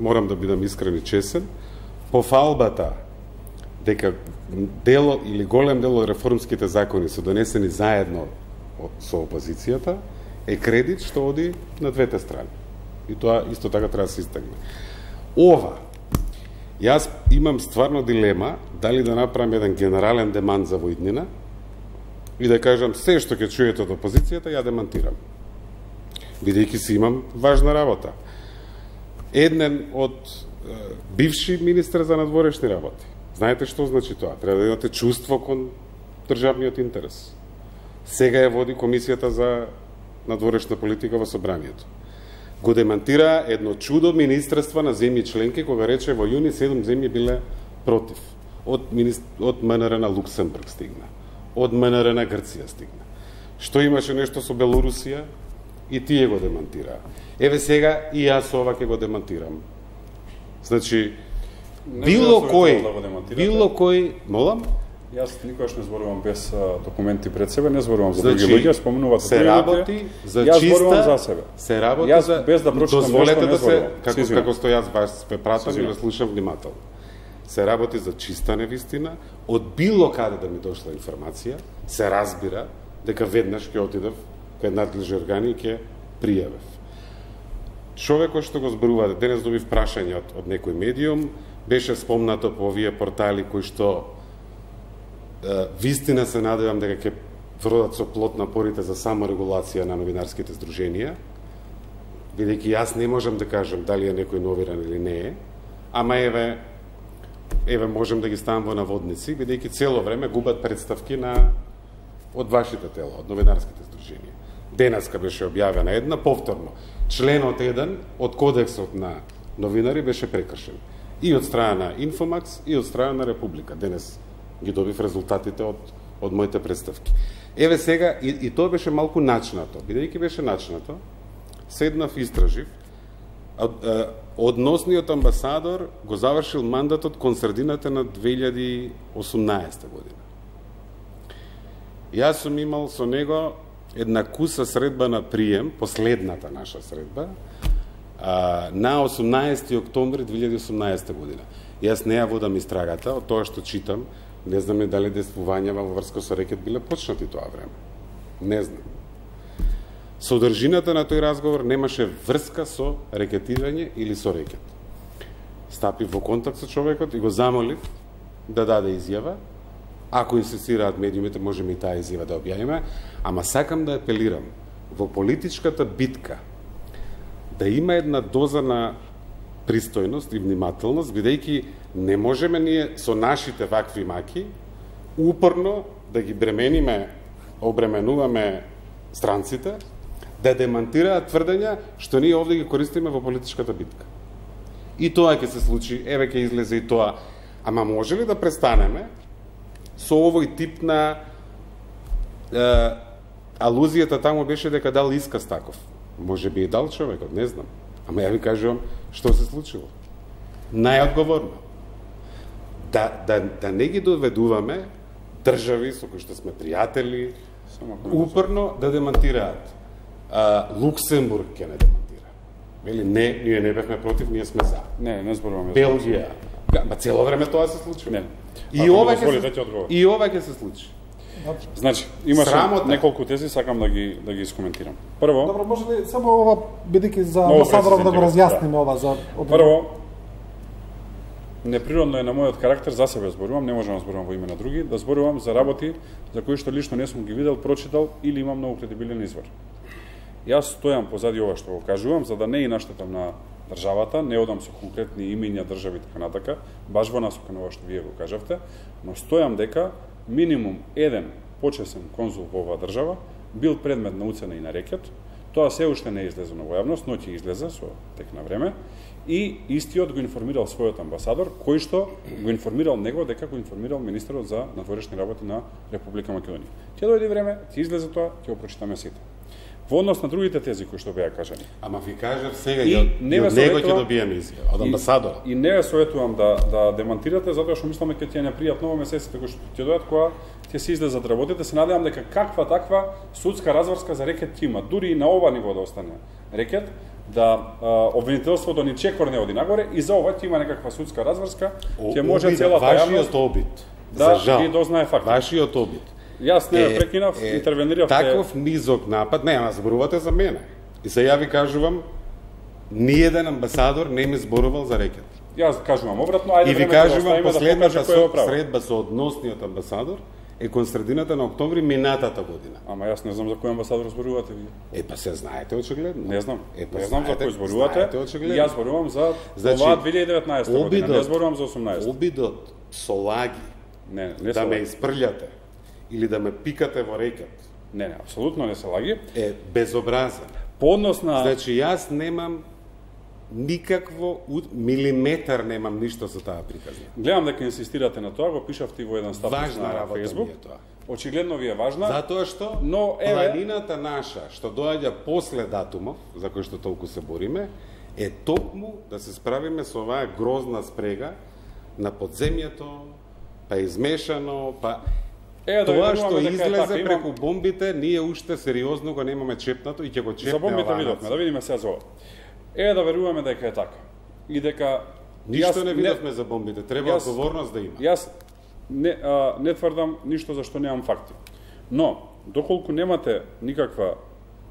морам да бидам искрен и чесен, по фалбата дека дел или голем дел од реформските закони се донесени заедно со опозицијата, е кредит што оди на двете страни. И тоа исто така треба да се истакне. Ова, јас имам стварно дилема дали да направам еден генерален демант за воиднина и да кажам се што ќе чуете од опозицијата, ја демантирам. Бидејќи си имам важна работа. Еден од бивши министер за надворешни работи. Знаете што значи тоа? Треба да имате чувство кон државниот интерес. Сега ја води Комисијата за надворешна политика во Собранието. Го демантира едно чудо министерство на земји членки, кога рече во јуни 7 земји биле против. Од МНР на Луксембург стигна. Од МНР на Грција стигна. Што имаше нешто со Белорусија и тие го демантираа. Еве сега и јас ова ќе го демантирам. Значи, било кој, молам? Јас никогаш не зборувам без документи пред себе, не зборувам за други луѓе, спомнуваат се работи за чиста, јас зборувам за себе. Се работи јас, за без да прочитам дозволете нешто, да се како што јас вас спе пратам и да слушам внимателно. Се работи за чиста невистина, од било каде да ми дошла информација, се разбира дека веднаш ќе отидев кај надлежни органи и ќе пријавев. Човекот што го зборува, денес добив прашање од некој медиум, беше спомнато по овие портали кои што вистина се надевам дека ќе вродат со плод напорите за саморегулација на новинарските здруженија, бидејќи јас не можам да кажам дали е некој новинар или не е, ама еве можем да ги ставам во наводници, бидејќи цело време губат представки од вашите тела, од новинарските здруженија. Денеска беше објавена една, повторно, членот 1 од Кодексот на новинари беше прекршен. И од страна на Инфомакс, и од страна на Република. Денес ги добив резултатите од моите представки. Еве сега, и тоа беше малку начнато. Бидејќи беше начнато, седнав и истражив, односниот амбасадор го завршил мандатот кон средината на 2018 година. Јас сум имал со него една куса средба на прием, последната наша средба, на 18 октомври 2018 година. Јас не ја водам истрагата, од тоа што читам, не знам дали действувањава во врска со рекет биле почнати тоа време. Не знам. Содржината на тој разговор немаше врска со рекетирање или со рекет. Стапив во контакт со човекот и го замолив да даде изјава. Ако инсистираат медиумите, можеме и таа изјава да објавиме, ама сакам да апелирам во политичката битка да има една доза на пристојност и внимателност, бидејќи не можеме ние со нашите вакви маки упорно да ги обременуваме странците да демантираат тврдења што ние овде ги користиме во политичката битка. И тоа ќе се случи, еве ќе излезе и тоа. Ама може ли да престанеме со овој тип на алузијата таму беше дека дал исказ таков. Може би и дал човекот, не знам. Ама ја ви кажувам што се случило. Најодговорно. Да не ги доведуваме држави со кои што сме пријатели, упорно да демантираат. Луксембург ќе не демантира. Вели не, ние не бевме против, ние сме за. Не зборуваме. Белгија. Цело време тоа се случува. Не. И ова ќе се случи. Значи, имаше Срамота. неколку тези, сакам да ги искоментирам. Прво, Добро, може ли само ова бидејќи за амбасадоров да го разјаснеме ова за прво, неприродно е на мојот карактер, за себе зборувам, не можам да зборувам во име на други, да зборувам за работи за кои што лично не сум ги видел, прочитал или имам многу кредибилен извор. Јас стојам позади ова што го кажувам, за да не и наштетам на државата, не одам со конкретни имиња држави така натака, баш во насока на ова што вие го кажавте, но стојам дека минимум еден почесен конзул во оваа држава бил предмет на уцена и на рекет. Тоа се уште не е излезено во јавност, но ќе излезе со тек на време. И истиот го информирал својот амбасадор, кој што го информирал него дека го информирал министерот за надворешни работи на Република Македонија. Ќе дојде време, ќе излезе тоа, ќе го прочитаме сите. Во однос на другите тези кои што беа кажани. Ама ви кажав сега и од него ќе добиеме изјава од амбасадора. И не ве советувам да демантирате, затоа што мислам дека ќе не пријатно во месеците кои што ќе дојдат, кога ќе се излезат работите. Се надевам дека каква таква судска разврска за рекет ќе има, дури и на ова ниво да остане рекет, да обвинителството ни чекор не оди нагоре и за ова ќе има некаква судска разврска, ќе може целата јавност вашиот обид. Да ги дознае факт. Вашиот обид. Јас не прекинав, интервенирав. Таков низок напад, не, ама зборувате за мене. И се ја ви кажувам, ниеден амбасадор не ми зборувал за рекет. Јас кажувам обратно, ајде и ви времето кажувам, да последната покаже средба со односниот амбасадор е кон средината на октомври минатата година. Ама јас не знам за кој амбасадор зборувате вие. Па се знаете очигледно. Не знам. Па не знам за кој зборувате. Јас зборувам за ова 2019 година, не зборувам за 18. Обидот со лаги не да ме испрљате или да ме пикате во рекет. Не, апсолутно не се лаги. Е безобразен. По однос на... Значи, јас немам никакво милиметар немам ништо со таа приказна. Гледам дека инсистирате на тоа, го пишавте во еден статус на Facebook. Очигледно ви е важна. Затоа што но планината наша, што доаѓа после датумов, за кој што толку се бориме, е токму да се справиме со оваа грозна спрега на подземјето, па измешано, па тоа што излезе преку бомбите, ние уште сериозно го немаме чепнато и ќе го чепне. За бомбите видовме, да видиме сега за ова. Да веруваме дека е така. И дека ништо не видовме за бомбите, треба одговорност да има. Јас не тврдам ништо за што немам факти. Но доколку немате никаква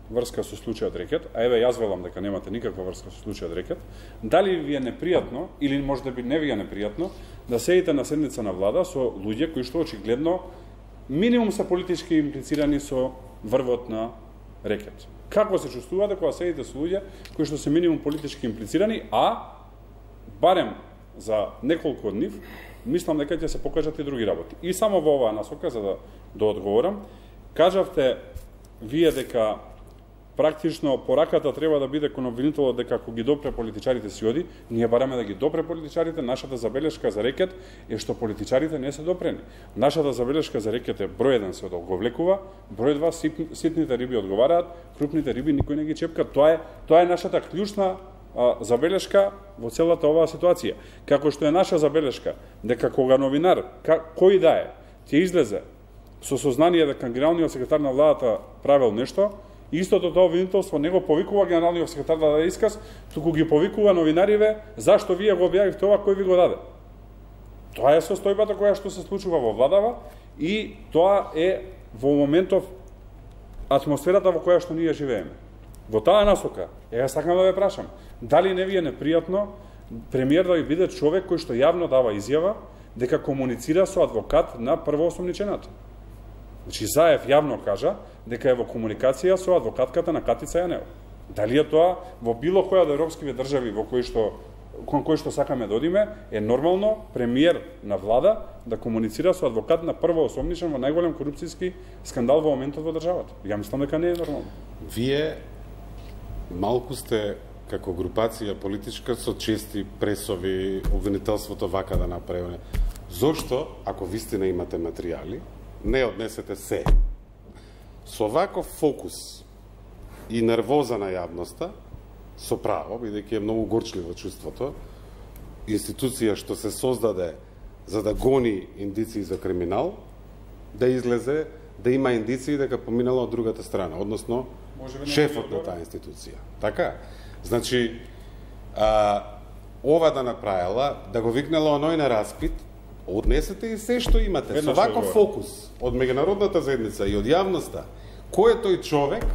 врска со случајот рекет, а еве јас велам дека немате никаква врска со случајот рекет, дали ви е непријатно или можеби не ви е непријатно да седите на седница на влада со луѓе кои што очигледно минимум се политички имплицирани со врвот на рекет. Како се чувствувате кога седите со луѓе кои што се минимум политички имплицирани, а барем за неколку од нив мислам дека ќе се покажат и други работи. И само во оваа насока, за да одговорам, кажавте вие дека практично пораката треба да биде кон обвинителот дека ако ги допре политичарите си оди, ние бараме да ги допре политичарите. Нашата забелешка за рекет е што политичарите не се допрени. Нашата забелешка за рекет е број 1 се одговлекува, број 2 ситните риби одговараат, крупните риби никој не ги чепка. Тоа е нашата клучна забелешка во целата оваа ситуација. Како што е наша забелешка дека кога новинар, кој да е, ќе излезе со сознание дека генералниот секретар на владата правил нешто, истото тоа обвинителство не го повикува генералниот секретар да даде исказ, туку ги повикува новинариве зашто вие го објавивте ова, кој ви го даде. Тоа е состојбата која што се случува во владава и тоа е во моментов атмосферата во која што ние живееме. Во таа насока, јас сакам да ве прашам, дали не ви е непријатно премиер да ви биде човек кој што јавно дава изјава дека комуницира со адвокат на првоосомничената? Значи, Заев јавно кажа дека е во комуникација со адвокатката на Катица Јанева. Дали е тоа во било која од европските држави кон кој што сакаме да одиме, е нормално премиер на влада да комуницира со адвокат на првоосомничен во најголем корупцијски скандал во моментот во државата? Ја мислам дека не е нормално. Вие малку сте како групација политичка со чести пресови, обвинителството вака да направи. Зошто, ако вистина имате материјали, не однесете се? Со ваков фокус и нервоза на јавноста, со право, бидејќи е многу горчливо чувството, институција што се создаде за да гони индиции за криминал, да излезе, да има индиции дека поминала од другата страна, односно шефот на таа институција. Така? Значи, ова да направила, да го викнала оној на распит однесете и се што имате. Со ваков фокус од меѓународната заедница и од јавноста, кој е тој човек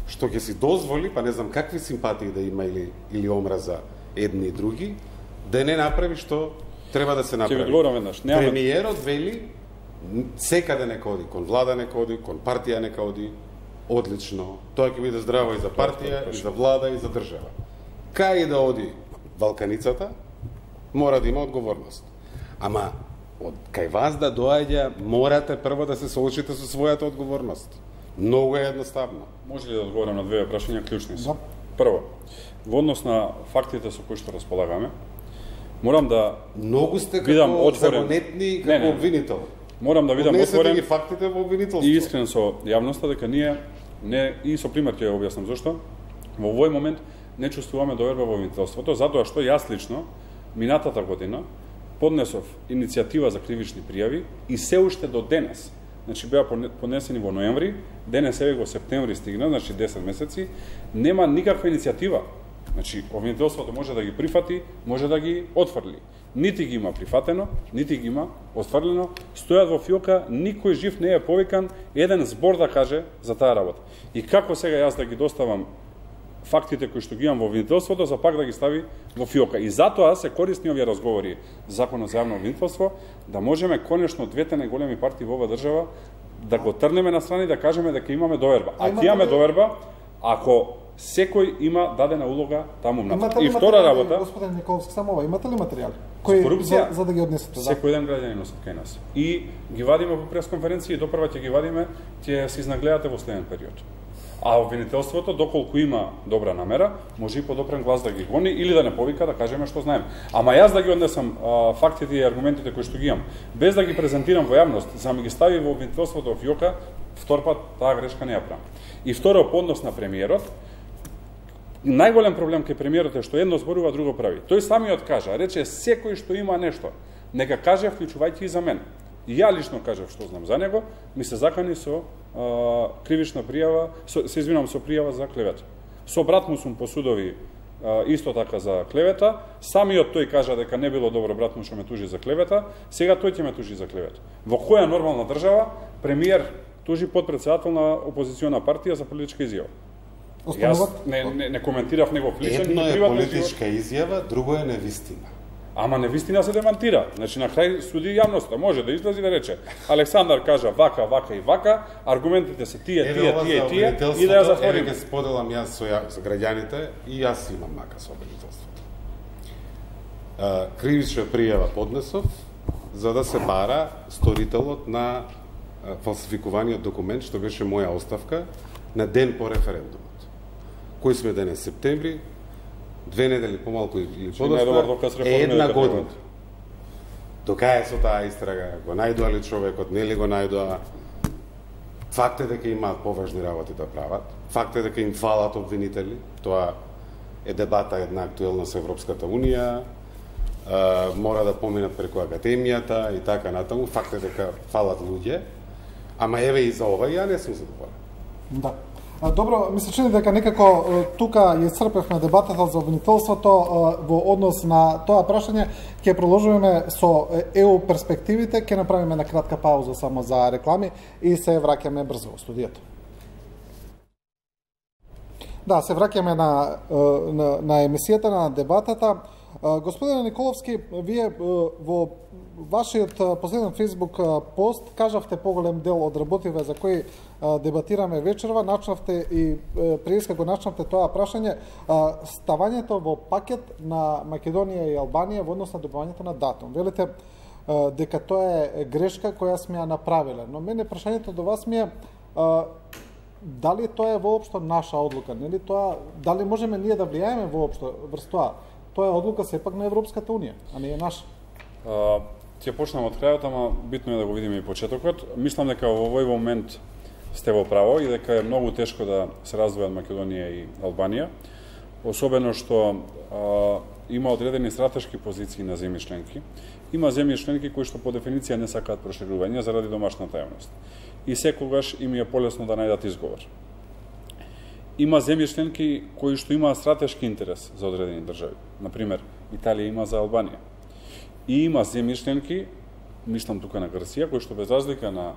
што ќе си дозволи, па не знам какви симпатии да има или омраза едни и други, да не направи што треба да се направи. Ќе ви одговорам веднаш. Премиерот вели секаде нека оди, кон влада нека оди, кон партија нека оди, одлично. Тоа ќе биде здраво и за партија, и за влада, и за држава. Кај да оди Балканицата, мора да има одговорност. Ама, кај вас да доаѓа, морате прво да се соочите со својата одговорност. Многу е едноставно. Може ли да одговорам на две прашања клучни се? Да. Прво, во однос на фактите со кои што располагаме, морам да многу сте како загонетни како обвинител. Морам да видам отворен ги фактите во обвинителство. И искрен со јавноста дека ние не и со пример ќе ја објаснам зошто во овој момент не чувствуваме доверба во обвинителството, затоа што јас лично минатата година поднесов иницијатива за кривични пријави и се уште до денес, значи беа поднесени во ноември, денес еве го септември стигна, значи 10 месеци, нема никаква иницијатива. Значи обвинителството може да ги прифати, може да ги отфрли. Нити ги има прифатено, нити ги има отфрлено, стојат во фиока, никој жив не е повикан еден збор да каже за таа работа. И како сега јас да ги доставам фактите кои што ги имам во обвинителството, за пак да ги стави во фиока. И затоа се користни овие разговори Законот за јавно обвинителство, да можеме конечно двете најголеми партии во оваа држава да го трнеме на страни, да кажеме дека имаме доверба. А ќе имаме доверба ако секој има дадена улога таму внатре. И втора работа, господин Николовски, само ова, имате ли материјали кои за да ги однесете? Секој ден граѓани носат кај нас. И ги вадиме во пресконференција и допрва ќе ги вадиме, ќе се изнагледате во следен период. А обвинителството, доколку има добра намера, може и подопрен глас да ги гони или да не повика да кажеме што знаеме. Ама јас да ги однесам фактите и аргументите кои што ги имам, без да ги презентирам во јавност, за да ми ги стави во обвинителството во фиока, втор пат таа грешка не ја правам. И второ, по однос на премиерот, најголем проблем кај премиерот е што едно зборува, друго прави. Тој самиот кажа, рече секој што има нешто, нека каже вклучувајќи и за мене. И ја лично кажав што знам за него, ми се закани со кривична пријава, се извинувам, со пријава за клевета. Со брат му сум по судови исто така за клевета, самиот тој кажа дека не било добро брат му што ме тужи за клевета, сега тој ќе ме тужи за клевета. Во која нормална држава премиер тужи подпредседател на опозициона партија за политичка изјава? Јас не коментирав негов личен и приватен политичка изјава, друго е невистина. Ама невистина се демантира. Значи на крај суди јавноста, може да излезе да рече Александар кажа вака, вака и вака, аргументите се тие и да ја затвориме. Еве ќе споделам јас со граѓаните и јас имам мака со обвинителството. Кривична пријава поднесов за да се бара сторителот на фалсификуваниот документ што беше моја оставка на ден по референдумот. Кој сме денес, септември, 2 недели помалку или подоста, една година. Докај со таа истрага, го најдоа ли човекот, нели го најдоа, факт е дека имаат поважни работи да прават, факт е дека им фалат обвинители, тоа е дебата една актуелна со Европската Унија, мора да поминат преку Академијата и така натаму, факт е дека фалат луѓе, ама еве и за ова ја не сум задоволен. Да. Добро, ми се чини дека некако тука ја исцрпевме дебатата за обвинителството во однос на тоа прашање. Ќе продолжуваме со ЕУ перспективите, ќе направиме на кратка пауза само за реклами и се враќаме брзо во студијето. Да, се враќаме на емисијата, на дебатата. Господине Николовски, вие во вашиот последен Facebook пост кажавте поголем дел од работиве за кои дебатираме вечерва, начнавте и преска го начнавте тоа прашање, ставањето во пакет на Македонија и Албанија во однос на добивањето на датум. Велите дека тоа е грешка која сме ја направиле, но мене прашањето до вас ми е дали тоа е воопшто наша одлука, нели тоа, дали можеме ние да влијаеме воопшто врз тоа? Тоа е одлука сепак на Европската Унија, а не е наша. Ќе почнам од крајот, ама битно е да го видиме и почетокот. Мислам дека во овој момент сте во право и дека е многу тешко да се раздвојат Македонија и Албанија, особено што има одредени стратешки позиции на земји членки. Има земји членки кои што по дефиниција не сакаат проширување заради домашната јавност. И секогаш им е полесно да најдат изговор. Има земји членки кои што имаат стратешки интерес за одредени држави. Например, Италија има за Албанија. И има земји членки мислам тука на Грција, кои што без разлика на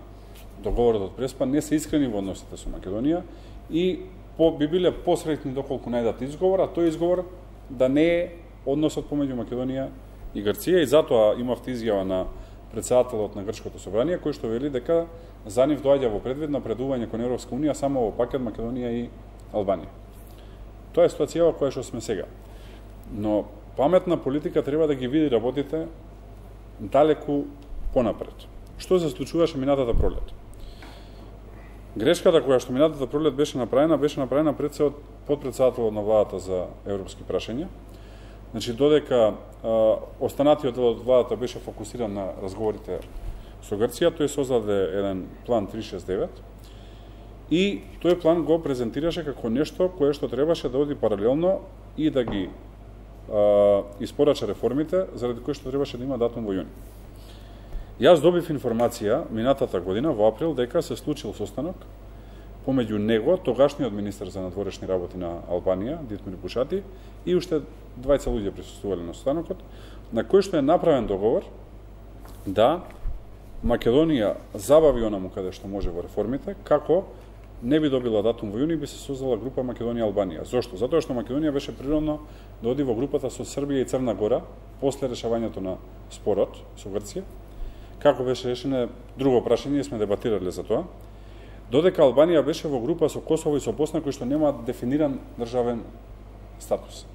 договорот од Преспа не се искрени во односите со Македонија и би биле посреќни доколку најдат изговор, а тој изговор да не е односот помеѓу Македонија и Грција, и затоа имавте изјава на председателот на Грчкото собрание, кој што вели дека за нив доаѓа во предвид напредување кон Европска унија само во пакет Македонија и Албанија. Тоа е ситуацијава која што сме сега. Но паметна политика треба да ги види работите далеку понапред. Што се случуваше минатата пролет? Грешката која што минатата пролет беше направена пред се од подпредседателот на владата за европски прашања. Значи, додека останатиот дел од владата беше фокусиран на разговорите со Грција, тој создаде еден план 369 и тој план го презентираше како нешто кое што требаше да оди паралелно и да ги испорача реформите, заради кои што требаше да има датум во јуни. Јас добив информација минатата година во април дека се случил состанок помеѓу него, тогашниот министер за надворешни работи на Албанија, Дитмир Бушати, и уште двајца луѓе присуствувале на состанокот, на кој што е направен договор да Македонија забави онаму каде што може во реформите, како не би добила датум во јуни, би се создала група Македонија-Албанија. Зошто? Затоа што Македонија беше природно да оди во групата со Србија и Црна Гора после решавањето на спорот со Грција. Како беше решено друго прашање, сме дебатирале за тоа. Додека Албанија беше во група со Косово и со Босна, кои што немаат дефиниран државен статус.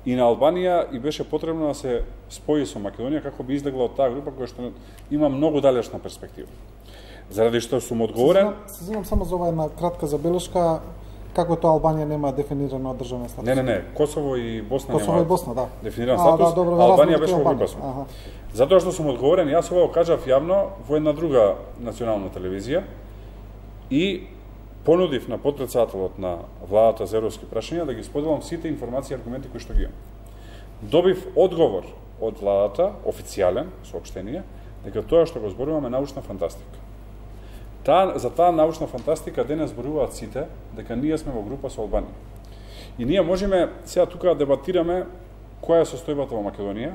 И на Албанија и беше потребно да се спои со Македонија како би излегла од таа група која што има многу далечна перспектива. Заради што сум одговорен... Се знам само за ова една кратка забелешка, како тоа Албанија нема дефинирано државен статус. Не, Косово и Босна Косово нема и Босна, да. Дефиниран статус, добро, Албанија беше во група со. Затоа што сум одговорен, јас ова кажав јавно во една друга национална телевизија и понудив на подпредседателот на владата за европски прашања да ги споделам сите информации и аргументи кои што ги имам. Добив одговор од владата, официјален, соопштение, дека тоа што го зборуваме е научна фантастика. За таа научна фантастика денес зборуваат сите дека ние сме во група со Албанија. И ние можеме сега тука да дебатираме која е состојбата во Македонија.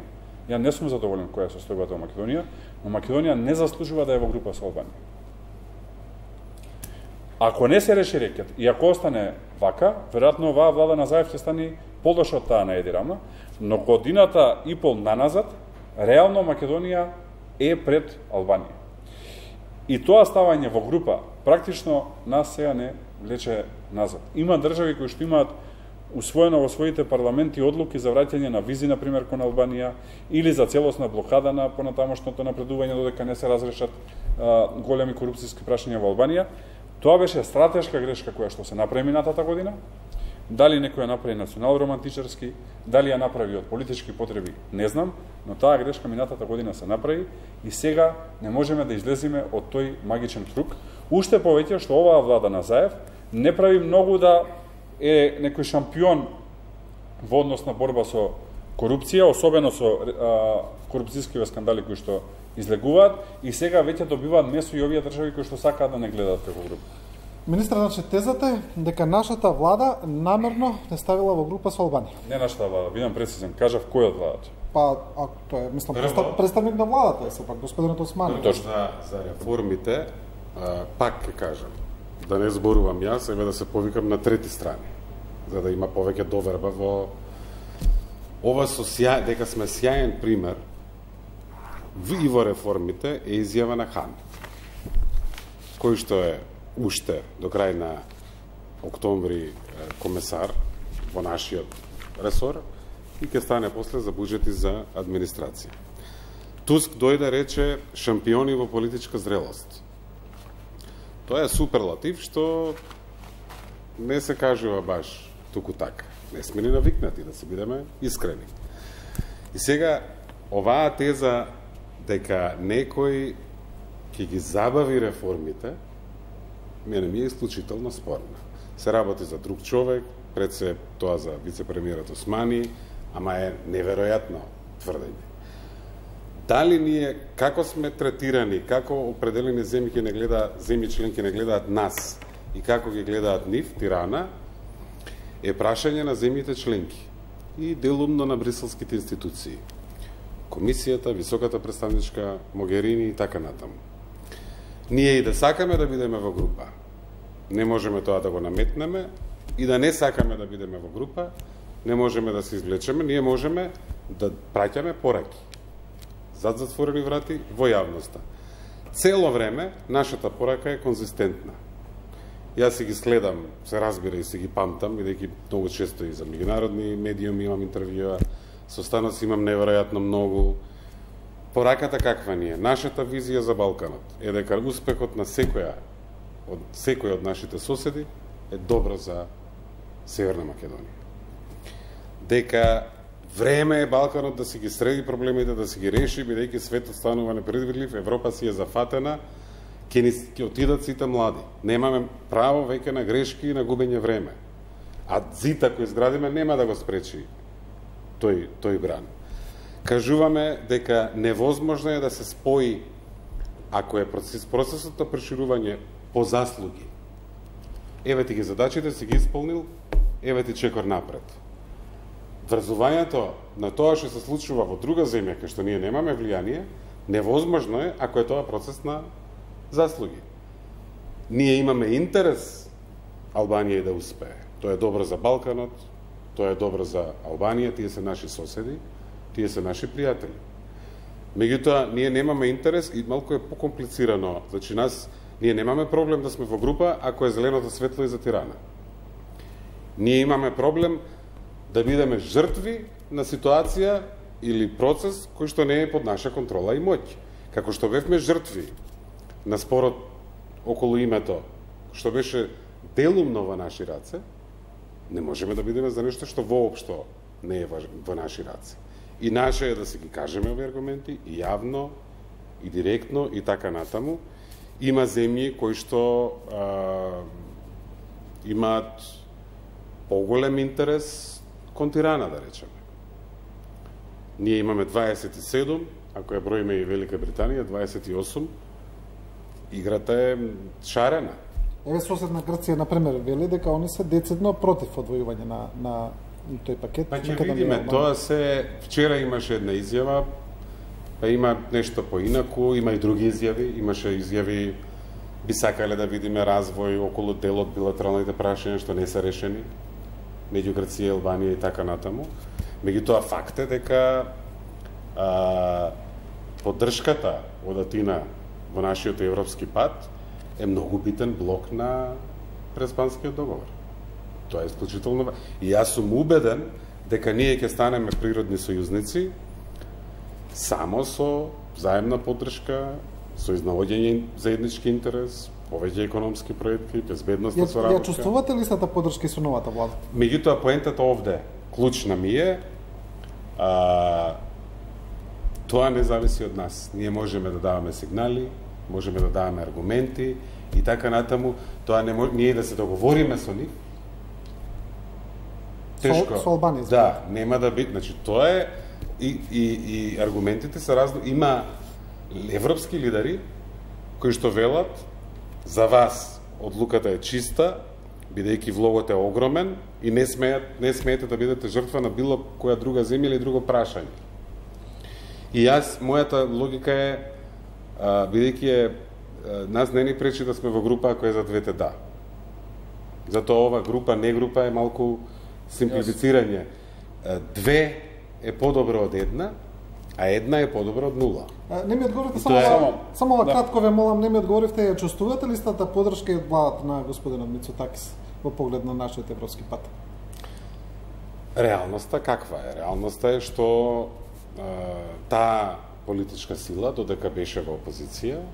Ја не сум задоволен која е состојбата во Македонија, но Македонија не заслужува да е во група со Албанија. Ако не се реши рекет и ако остане вака, веројатно оваа влада на Заев ќе стане полоша од таа на Еди Рама, но годината и пол наназад, реално Македонија е пред Албанија. И тоа ставање во група, практично нас сега не влече назад. Има држави кои што имаат усвоено во своите парламенти одлуки за враќање на визи, например, кон Албанија, или за целосна блокада на понатамошното напредување додека не се разрешат големи корупцијски прашања во Албанија. Тоа беше стратешка грешка која што се направи минатата година. Дали некој ја направи национал-романтичарски, дали ја направи од политички потреби, не знам, но таа грешка минатата година се направи и сега не можеме да излеземе од тој магичен круг. Уште повеќе што оваа влада на Заев не прави многу да е некој шампион во однос на борба со корупција, особено со корупцијскиве скандали кои што излегуваат и сега веќе добиваат место и овие држави кои што сакаат да не гледаат како група. Министр, значи тезата е дека нашата влада намерно не ставила во група со Албанија. Не нашата влада, бидам прецизен, кажав кој од владата. Па, тоа е, мислам, представник на владата е сепак, господинот Османи. Точно за реформите, пак ќе кажам, да не зборувам јас, еве да се повикам на трети страни, за да има повеќе доверба во ова дека сме сјаен пример и во реформите е изјава на Хан, кој што е уште до крај на октомври комесар во нашиот ресор и ќе стане после за буџет и за администрација. Туск дојде рече шампиони во политичка зрелост. Тоа е суперлатив што не се кажува баш туку така. Не сме ни навикнати, да се бидеме искрени. И сега, оваа теза дека некој ќе ги забави реформите, мене ми е исклучително спорна. Се работи за друг човек, пред се тоа за вице-премиерот Османи, ама е неверојатно тврдење. Дали ние, како сме третирани, како определени земји ќе не гледаат, земји членки не гледаат нас и како ги гледаат нив, Тирана, е прашање на земјите членки и делумно на бриселските институции. комисијата, високата представничка Могерини и така натаму. Ние и да сакаме да бидеме во група, не можеме тоа да го наметнеме, и да не сакаме да бидеме во група, не можеме да се извлечеме, ние можеме да праќаме пораки зад затворени врати во јавноста. Цело време нашата порака е конзистентна. Јас си ги следам, се разбира и си ги памтам, бидејќи многу често и за меѓународни медиуми имам интервјуа, со Станос имам неверојатно многу. Пораката каква ни е? Нашата визија за Балканот е дека успехот на секој од нашите соседи е добро за Северна Македонија. Дека време е Балканот да си ги среди проблемите, да си ги реши, бидејќи светот станува непредвидлив, Европа си е зафатена, ќе отидат сите млади. Немаме право веќе на грешки и на губење време. А зид ако изградиме нема да го спречи тој бран. Кажуваме дека невозможно е да се спои, ако е процесот на проширување по заслуги. Еве ти ги задачите си ги исполнил, еве ти чекор напред. Врзувањето на тоа што се случува во друга земја, кај што ние немаме влијание, невозможно е ако е тоа процес на заслуги. Ние имаме интерес Албанија да успее. Тоа е добро за Балканот, тоа е добро за Албанија, тие се наши соседи, тие се наши пријатели. Меѓутоа, ние немаме интерес и малку е покомплицирано. Значи, ние немаме проблем да сме во група ако е зеленото светло и за Тирана. Ние имаме проблем да бидеме жртви на ситуација или процес кој што не е под наша контрола и моќ. Како што бевме жртви на спорот околу името, што беше делумно во наши раце, не можеме да бидеме за нешто што воопшто не е во наши раце. И наше е да си ги кажеме овие аргументи, и јавно, и директно, и така натаму. Има земји кои што имаат поголем интерес кон Тирана, да речеме. Ние имаме 27, ако ја броиме и Велика Британија, 28. Играта е шарена. Еве соседна Грција, например, вели дека они се децидно против одвојување на тој пакет. Па ќе видиме, тоа се... Вчера имаше една изјава, па има нешто поинаку, има и други изјави, имаше изјави, би сакале да видиме развој околу дел од билатералните прашања што не се решени, меѓу Грција и Албанија и така натаму. Меѓутоа факт е дека поддршката од Атина во нашиот европски пат е многу битен блок на Преспанскиот договор. Тоа е исклучително. И јас сум убеден дека ние ќе станеме природни сојузници само со заемна поддршка, со изнаоѓање заеднички интерес, повеќе економски проекти, безбедностна соработка. Ја чувствувате ли сата поддршка и со новата влада? Меѓутоа, поентата овде, клучна ми е, тоа не зависи од нас. Ние можеме да даваме сигнали, можеме да даваме аргументи и така натаму. Тоа не може, ние да се договориме со нив. Тешко. Со Албанија. Да, нема да биде. Значи, тоа е и аргументите се разно. Има европски лидери кои што велат за вас одлуката е чиста, бидејќи влогот е огромен и не смеете да бидете жртва на било која друга земја или друго прашање. И мојата логика е, бидејќи нас не ни пречи да сме во група ако е за двете да. Затоа ова група, не група е малку симплифицирање. Две е подобро од една, а една е подобро од нула. Не ми одговорите само кратко ве молам, не ми одговоривте, ја чувствувате ли стата поддршка и од владата на господинот Мицотакис во поглед на нашиот европски пат? Реалноста каква е? Реалноста е што таа политичка сила, додека беше во опозиција,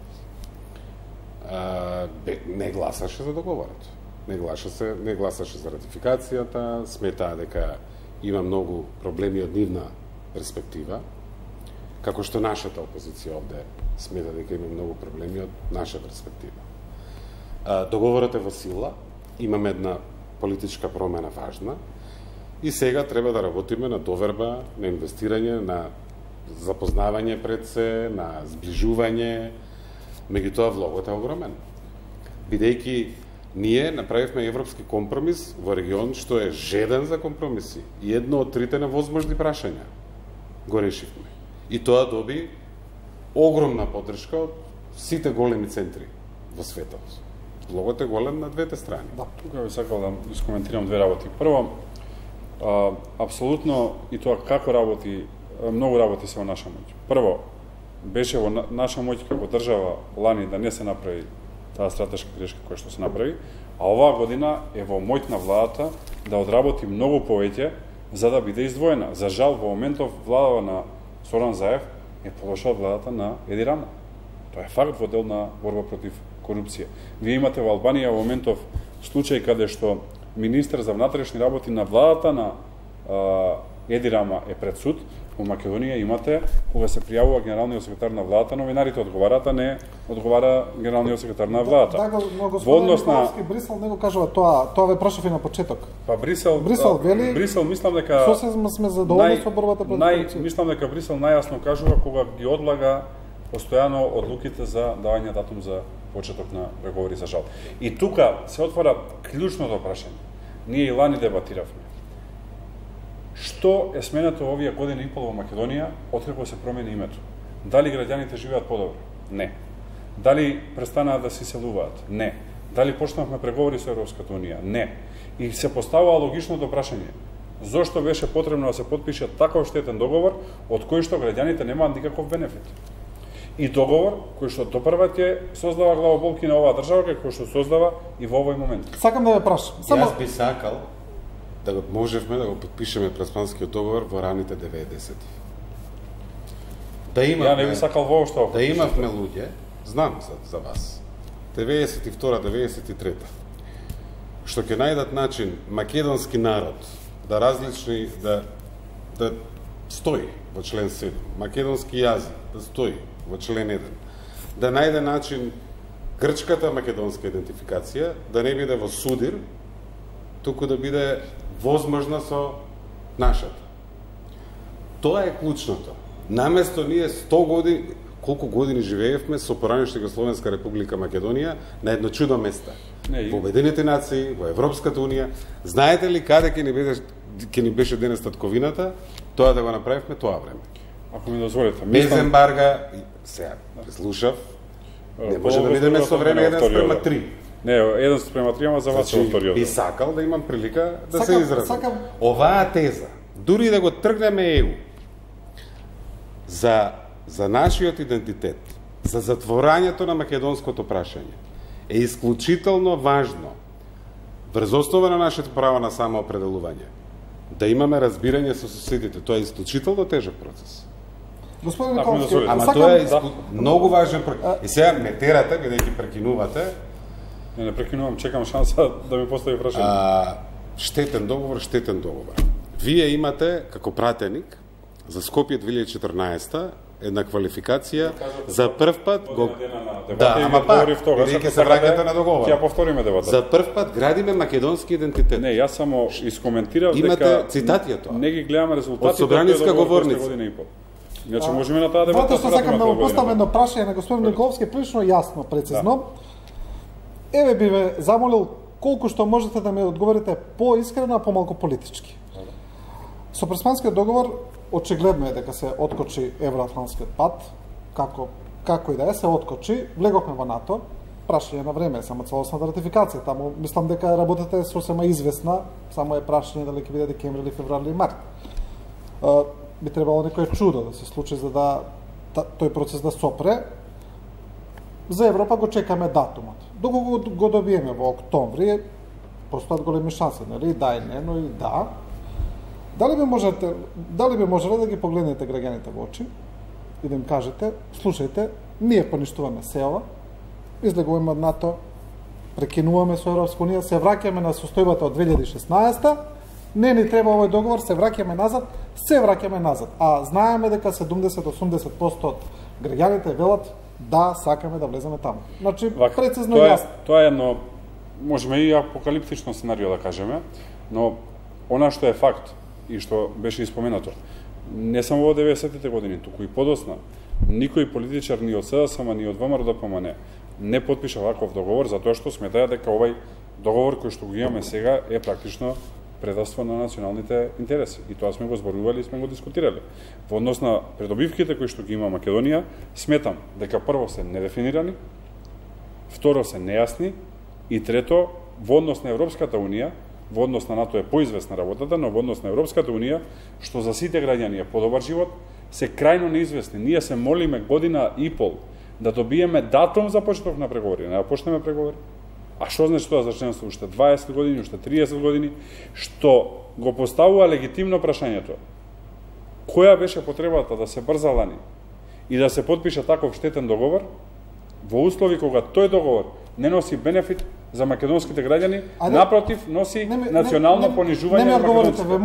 не гласаше за договорот. Не гласаше за ратификацијата, сметаа дека има многу проблеми од нивна перспектива, како што нашата опозиција овде смета дека има многу проблеми од наша перспектива. Договорот е во сила, имаме една политичка промена важна и сега треба да работиме на доверба, на инвестирање, на запознавање пред се, на сближување, меѓутоа влогот е огромен. Бидејќи ние направивме европски компромис во регион што е жеден за компромиси и едно од трите невозможни прашања го решивме. И тоа доби огромна поддршка од сите големи центри во светот. Логот е голем на двете страни. Да, тука би сакал да искоментирам две работи. Прво, апсолутно и тоа како работи, многу работи се во наша моќ. Прво, беше во наша моќ како држава лани да не се направи таа стратешка грешка која што се направи, а оваа година е во моќ на владата да одработи многу повеќе за да биде издвоена. За жал, во моментов владава на Соран Заев е полоша од владата на Еди Рама. Тоа е факт во дел на борба против корупција. Вие имате во Албанија во моментов случај каде што министер за внатрешни работи на владата на Еди Рама е пред суд. Во Македонија имате, кога се пријавува генералниот секретар на владата, новинарите одговараат, а не одговара генералниот секретар на владата. Да, но господин Николовски, Брисел не го кажува тоа ве прашав и на почеток. Па Брисел вели, Брисел мислам дека сосема сме задоволни со борбата против корупција. Мислам дека Брисел најасно кажува кога ги одлага постојано одлуките за давање датум за почеток на преговори, за жал. И тука се отвора клучното прашање. Ние и лани дебатиравме. Што е сменето овие година и пол во Македонија откако се промени името? Дали граѓаните живеат подобро? Не. Дали престанаа да се иселуваат? Не. Дали почнавме преговори со Европската унија? Не. И се поставува логичното прашање. Зошто беше потребно да се потпише таков штетен договор од кој што граѓаните немаат никаков бенефит? И договор кој што допрва ќе создава главоболки на оваа држава, кој што создава и во овој момент. Сакам да ве прашам. Јас би сакал да го можевме да го подпишеме Преспанскиот договор во раните 90-ти. Да имавме, ја не би сакал воопшто. Да имавме луѓе, знам за вас, 92-93, што ќе најдат начин македонски народ да различни, да стои во член 7, македонски јазик да стои во член 1, да најде начин грчката македонска идентификација да не биде во судир, туку да биде возможна со нашата. Тоа е клучното. Наместо ние 100 години, колку години живеевме со поранешна Југословенска република Македонија на едно чудо место. Во Обединетите нации, во Европската унија. Знаете ли каде ќе ни беше денес татковината? Тоа да го направивме тоа време. Ако ми дозволите. Без ембарга, сега слушав, не може да бидеме со време 1:3. Не, 1:3, ама за вас е вториот. Би сакал да имам прилика да се изразам. Оваа теза, дури да го тргнеме ЕУ, за нашиот идентитет, за затворањето на македонското прашање, е исклучително важно, врз основа на нашето право на самоопределување, да имаме разбирање со соседите. Тоа е исклучително тежок процес. Господин Николовски, ама тоа е многу важен процес. И сега ме терате, бидејќи прекинувате. Не прекинувам, чекам шанса да ми постави прашање. Штетен договор. Вие имате, како пратеник, за Скопје 2014 една квалификација за прв пат го... Да, ама пак, бидејќи се враќате на договор. Ќе повториме дебатата. За прв пат градиме македонски идентитет. Не, јас само искоментирав дека... Имате цитати од тоа. Не ги гледаме резултатите од собраниска говорница. Година и пол. Иначе можеме на таа дебата. Затоа што сакам да му поставам едно прашање на господин Николовски, прилично јасно, прецизно. Еве би ве замолил колку што можете да ми одговорите поискрено, а помалку политички. Со Преспанскиот договор очигледно е дека се откочи евроатлантскиот пат, како и да е, се откочи, влеговме во НАТО, прашање на време, само целосната ратификација, таму мислам дека работата е сосема известна, само е прашање дали ќе биде декември или февруари или март. Би требало некој чудо да се случи за да тој процес да сопре. За Европа го чекаме датумот. Доколку го добиеме во октомври, постојат големи шанси, нели? Да и не, но и да. Дали би можеле да ги погледнете граѓаните во очи и да им кажете, слушајте, ние поништуваме СЕО, излегуваме од НАТО, прекинуваме со Европска унија, се враќаме на состојбата од 2016, не ни треба овој договор, се враќаме назад. А знаеме дека 70-80% од граѓаните велат да сакаме да влеземе таму. Значи, прецизно и јасно. Тоа е едно, можеме и апокалиптично сценарио да кажеме, но она што е факт и што беше испоменато, не само во 90-тите години, туку и подосна, никој политичар ни од СДСМ, ни од ВМРО-ДПМН не потпиша ваков договор, затоа што сметаја дека овај договор кој што го имаме сега е практично предавство на националните интереси. И тоа сме го зборували и сме го дискутирали. Во однос на придобивките кои што ги има Македонија, сметам дека прво се недефинирани, второ се нејасни и трето, во однос на Европската Унија, во однос на НАТО е поизвестна работата, но во однос на Европската Унија, што за сите граѓани е подобар живот, се крајно неизвестни. Ние се молиме година и пол да добиеме датум за почеток на преговори. Не да почнеме преговори. А што значи тоа за членство? Уште 20 години, уште 30 години, што го поставува легитимно прашањето. Која беше потребата да се брзалани и да се подпише таков штетен договор во услови кога тој договор не носи бенефит за македонските граѓани, напротив, носи национално понижување на македонците. Ве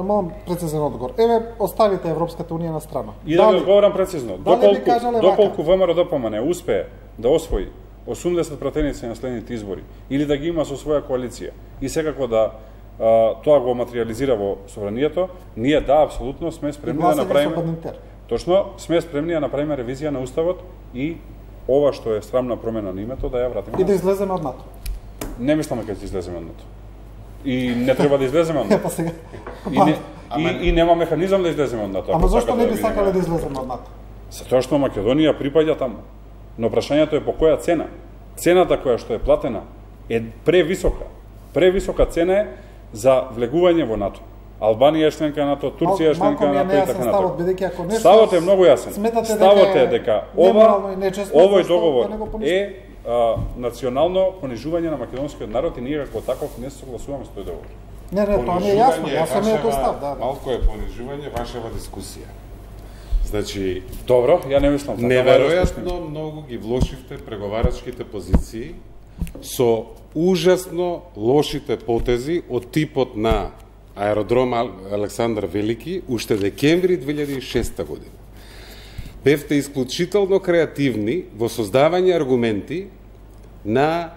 молам прецизен одговор. Еве, оставите Европската Унија на страна. И да ви одговорам прецизно. Доколку ВМРО ДПМН успее да освои 80 пратеници на следните избори, или да ги има со своја коалиција, и секако да тоа го материализира во собранието, ние апсолутно сме спремни да направиме. Точно, сме спремни да направиме ревизија на уставот и ова што е срамна промена на името да ја вратиме. И да излеземе од НАТО. Не мислам дека ќе излеземе од НАТО. И не треба да излеземе од НАТО. И нема механизам да излеземе од НАТО. Ама зошто не би сакале да излеземе од НАТО? Затоа што Македонија припаѓа таму. Но прашањето е по која цена. Цената која што е платена е превисока. Превисока цена е за влегување во НАТО. Албанија е членка на НАТО, Турција е членка на НАТО и така натаму. Ставот е многу јасен. Ставот е дека овој договор е национално понижување на македонскиот народ и ние како таков не се согласуваме со тој договор. Не, тоа не е јасно, јасно е тој став, да. Малку е понижување вашава дискусија. Значи, добро, ја не мислам така. Неверојатно многу ги влошивте преговарачките позиции со ужасно лошите потези од типот на аеродром Александар Велики уште декември 2006 година. Бевте исклучително креативни во создавање аргументи на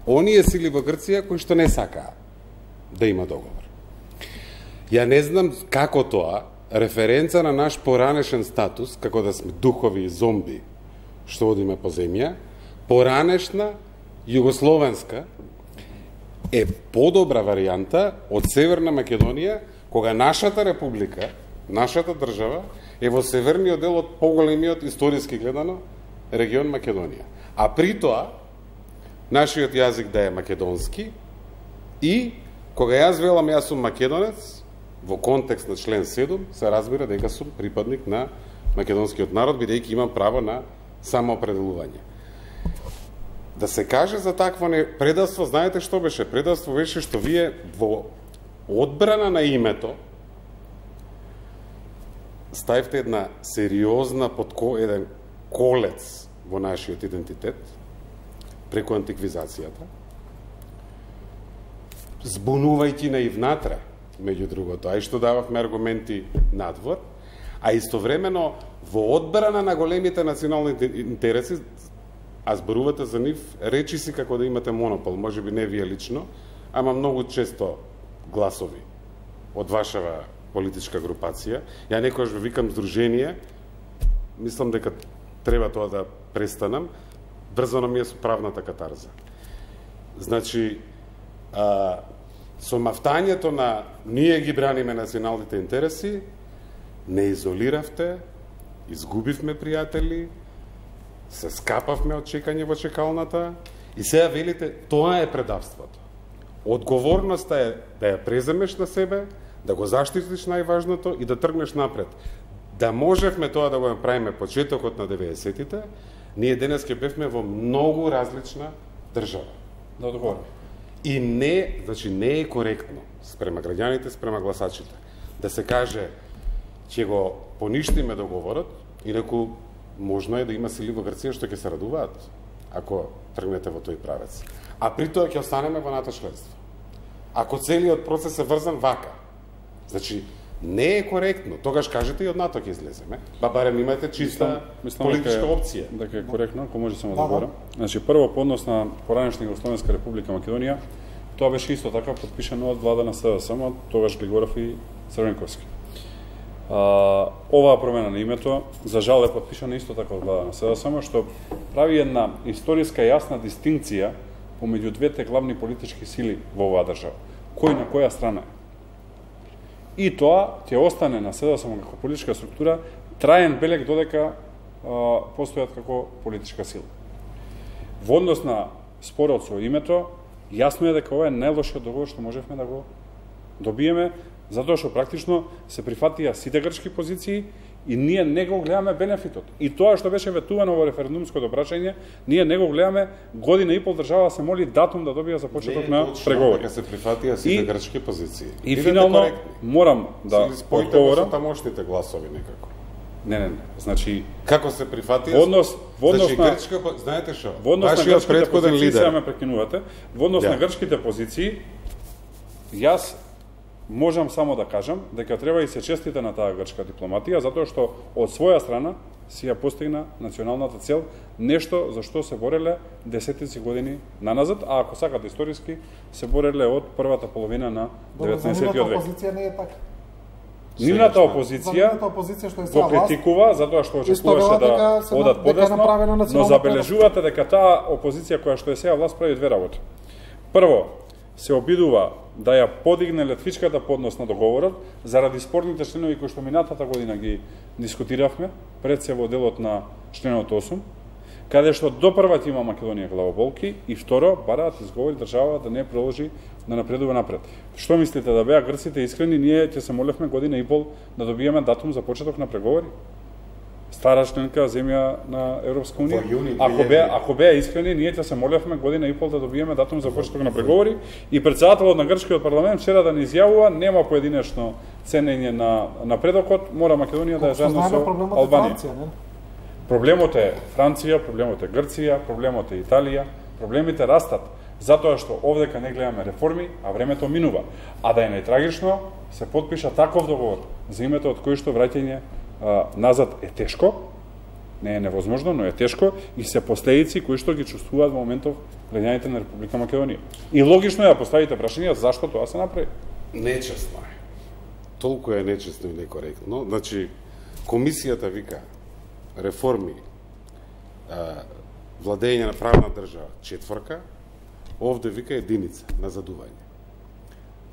оние сили во Грција кои што не сакаа да има договор. Ја не знам како тоа, референца на наш поранешен статус, како да сме духови и зомби што одиме по земја, поранешна југословенска е подобра варијанта од Северна Македонија, кога нашата република, нашата држава, е во северниот дел од поголемиот историски гледано регион Македонија. А при тоа, нашиот јазик да е македонски и кога јас велам јас сум македонец, во контекст на член 7, се разбира дека сум припадник на македонскиот народ, бидејќи имам право на самоопределување. Да се каже за такво предавство, знаете што беше? Предавство беше што вие во одбрана на името ставите една сериозна еден колец во нашиот идентитет преку антиквизацијата, збунувајќи на и внатре, меѓу другото, а и што дававме аргументи надвор, а истовремено во одбрана на големите национални интереси, а зборувате за нив, речи си како да имате монопол, може би не вие лично, ама многу често гласови од вашава политичка групација. Ја некојаш ве викам здружение, мислам дека треба тоа да престанам, врзано ми е со правната катарза. Значи, со мафтањето на ние ги браниме националните интереси, не изолиравте, изгубивме пријатели, се скапавме од чекање во чекалната и сега велите, тоа е предавството. Одговорноста е да ја преземеш на себе, да го заштитиш најважното и да тргнеш напред. Да можевме тоа да го направиме почетокот на 90-тите, ние денес ќе бевме во многу различна држава. Да одговорам. И не, значи не е коректно спрема граѓаните, спрема гласачите, да се каже ќе го поништиме договорот, инаку можно е да има сили во Грција што ќе се радуваат ако тргнете во тој правец. А при тоа ќе останеме во НАТО членство. Ако целиот процес е врзан вака, значи не е коректно. Тогаш кажете и од НАТО ќе излеземе. Ба барем имате чиста политичка опција. Дека е коректно, ако може само да говорам. Значи прво по однос на поранешна Југословенска република Македонија, тоа беше исто така потпишано од влада на СДСМ, тогаш Глигоров и Црвенковски. Оваа промена на името, за жал е потпишана исто така од влада на СДСМ, што прави една историска јасна дистинкција помеѓу двете главни политички сили во оваа држава. кој на која страна е. И тоа ќе остане на СДСМ како политичка структура траен белег додека постојат како политичка сила. Во однос на спорот со името, јасно е дека ова е најлошиот договор што можевме да го добиеме, затоа што практично се прифатија сите грчки позиции и ние не го гледаме бенефитот. И тоа што беше ветувано во референдумското прашање, ние не го гледаме, година и пол држава се моли датум да добија за почеток на преговори. Не се прифатија сите грчки позиции. И финално морам да одговорам. Тамошните гласови некако. Не. Значи како се прифатија? Во однос значи, на грчка, знаете што? Во однос на грчките позиции, лидер. сега ме прекинувате. Во однос на грчките позиции, јас можам само да кажам дека треба и се честите на таа грчка дипломатија, затоа што од своја страна си ја постигна националната цел, нешто за што се бореле десетици години наназад, а ако сакате историски, се бореле од првата половина на 19-тиот век. Опозиција не е така. Нивната опозиција го критикува затоа што очекуваше да одат подесно, но забележувате дека таа опозиција која што е сега власт прави две работи. Прво, се обидува да ја подигне летвичката поднос на договорот заради спорните членови кои што минатата година ги дискутиравме, пред се во делот на членот 8, каде што допрва ќе има Македонија главоболки и второ, бараат изговори држава да не продолжи да напредува напред. Што мислите, да беа грците искрени, ние ќе се молевме година и пол да добиеме датум за почеток на преговори? Стара членка земја на Европска унија. Ако беа искрени, ние ќе се молевме година и пол да добиеме датум за почеток на преговори и председателот на грчкиот парламент вчера да ни изјавува нема поединечно ценење на напредокот, мора Македонија да е заедно со Албанија. Проблемот е Франција, проблемот е Грција, проблемот е Италија, проблемите растат, затоа што овдека не гледаме реформи, а времето минува. А да е најтрагично, се потпиша таков договор за името од кој што враќање назад е тешко, не е невозможно, но е тешко и се последици кои што ги чувствуваат во моментов граѓаните на Република Македонија. И логично е да поставите прашање зашто тоа се направи. Нечесно е. Толку е нечесно и некоректно. Значи, комисијата вика реформи, владење на правна држава 4, овде вика единица на задување.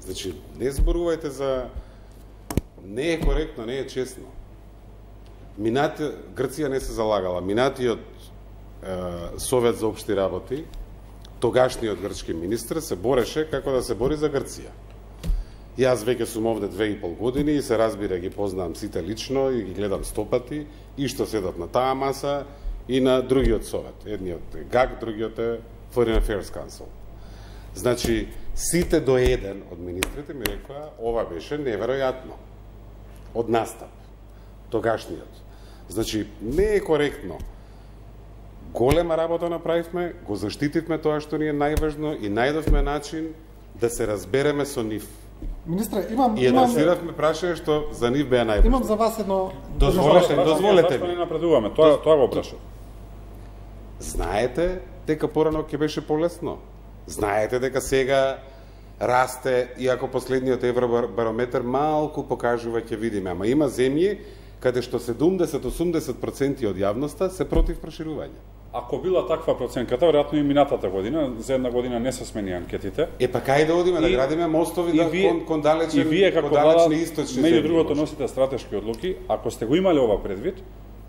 Значи, не зборувајте за... Не е коректно, не е честно. Грција не се залагала. Минатиот Совет за општи работи, тогашниот грчки министр, се бореше како да се бори за Грција. Јас веќе сум овде 2,5 години и се разбира, ги познавам сите лично и ги гледам стопати и што седат на таа маса и на другиот совет. Едниот е ГАК, другиот е Foreign Affairs Council. Значи, сите до еден од министрите ми рекоа, ова беше неверојатно. Од настап. Тогашниот. Значи, не е коректно. Голема работа направивме, го заштитивме тоа што ни е најважно и најдовме начин да се разбереме со нив. Министре, и адресиравме прашање што за нив беа најважно. Имам за вас едно... Дозволете ми. Зашто не напредуваме? Тоа го прашав. Знаете дека порано ќе беше полесно. Знаете дека сега расте, иако последниот евробарометар малку покажува, ќе видиме, ама има земји каде што 70-80% од јавноста се против проширување. Ако била таква проценката, веројатно и минатата година, за една година не се смени анкетите. Па кај да одиме, да градиме мостови кон далечни источни земји. Меѓу другото носите стратешки одлуки, ако сте го имале ова предвид,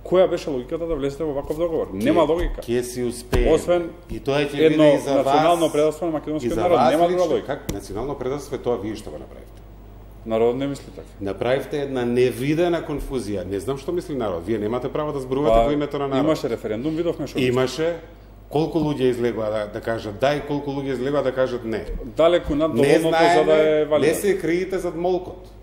која беше логиката да влезете во ваков договор? Нема логика. Ке си успеем. Освен и тоа ќе биде и за вас. Национално предавство на македонскиот народ, нема друга логика. Как национално предавство тоа вие што го направите? Народ не мисли така. Направивте една невидена конфузија. Не знам што мисли народ. Вие немате право да зборувате во името на народ. Имаше референдум, видовме што. Имаше. Колку луѓе излегува да кажат да и колку луѓе излегува да кажат не. Далеку над доволното за да е валидно. Не се криете зад молкот.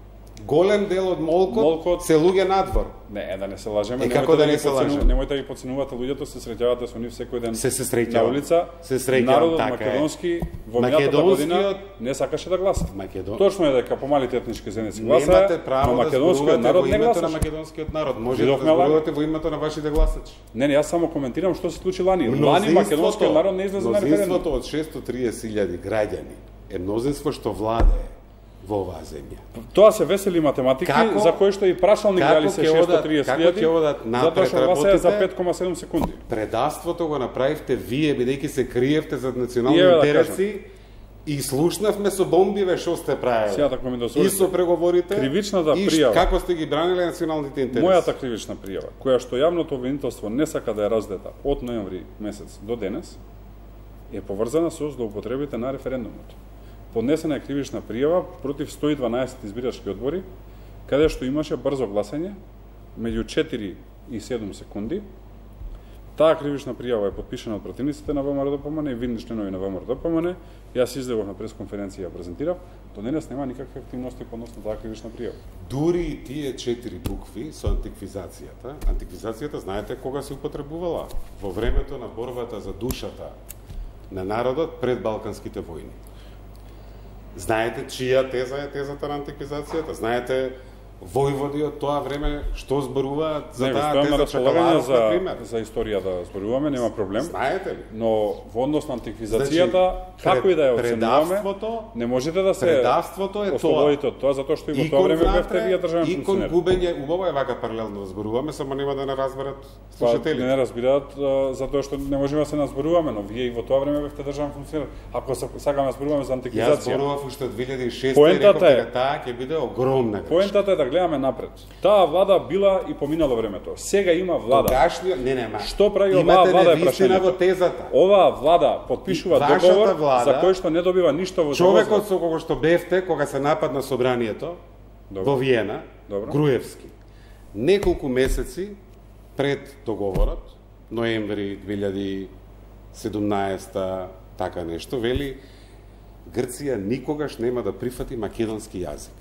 Голем дел од молкот се луѓе надвор. Не, да не се лажеме. И како да не се лажеме? Немојте да ги подценувате луѓето, се среќавате со нив секој ден. Се среќава на улица. Се среќава, народот така македонски во минатата година не сакаше да гласа. Точно е дека помалите етнички заедници гласаа. Немате право да македонскиот народ во не името гласаше. на македонскиот народ. Може да зборувате во името на вашите гласачи. Не, јас само коментирам што се случи лани. Лани македонскиот народ не излезе на референдум. Мнозинството од 630.000 граѓани е мнозинство што владее во оваа земја. Тоа се весели математики, за кои што и прашални гледали се 630.000, затоа што гласаја за 5,7 секунди. Предавството го направивте вие, бидејќи се криевте зад национални интереси И слушнавме со бомбиве што сте правеле. Сега така ми И дозволите. со преговорите, Кривичната и пријава. како сте ги браниле националните интереси. Мојата кривична пријава, која што јавното обвинителство не сака да ја раздета од ноември месец до денес, е поврзана со злоупотребите на референдумот. Поднесена е кривична пријава против 112 избирачки одбори, каде што имаше брзо гласање меѓу 4 и 7 секунди. Таа кривична пријава е подпишана од противниците на ВМРО-ДПМН и видни членови на ВМРО-ДПМН. Јас излегов на пресконференција и ја презентирав. До денес нема никакви активности по однос на таа кривична пријава. Дури и тие 4 букви со антиквизацијата. Антиквизацијата, знаете кога се употребувала? Во времето на борбата за душата на народот пред Балканските војни. Знаете чија теза е тезата на антиквизацијата? Знаете војводи од тоа време што зборуваат за таа теза Чекаларов, например? За историја да зборуваме, нема проблем. Знаете ли? Но во однос на антиквизацијата, како и да ја оценуваме, не можете да се предавството е ослободите од тоа, затоа што и во тоа време бевте вие државен и кон функционер. губење, убаво е вака паралелно да зборуваме, само нема да не разберат Па, слушателите. не разбираат затоа што не можеме да се назборуваме, но вие и во тоа време бевте државен функционер. Ако сакаме да зборуваме за Јас антиквизација, зборував уште од 2006 и Поентата реков е- дека таа ќе биде огромна грешка. поентата е да гледаме напред. Таа влада била и поминало времето. Сега има влада. Тогашниот, не, Што прави оваа имате влада е невистина во прашањето. тезата. Оваа влада подпишува Вашата договор влада, за кој што не добива ништо во Човекот со кого што бевте кога се нападна собранието Добро. во Виена, Добро. Груевски, неколку месеци пред договорот, ноември 2017, така нешто, вели Грција никогаш нема да прифати македонски јазик.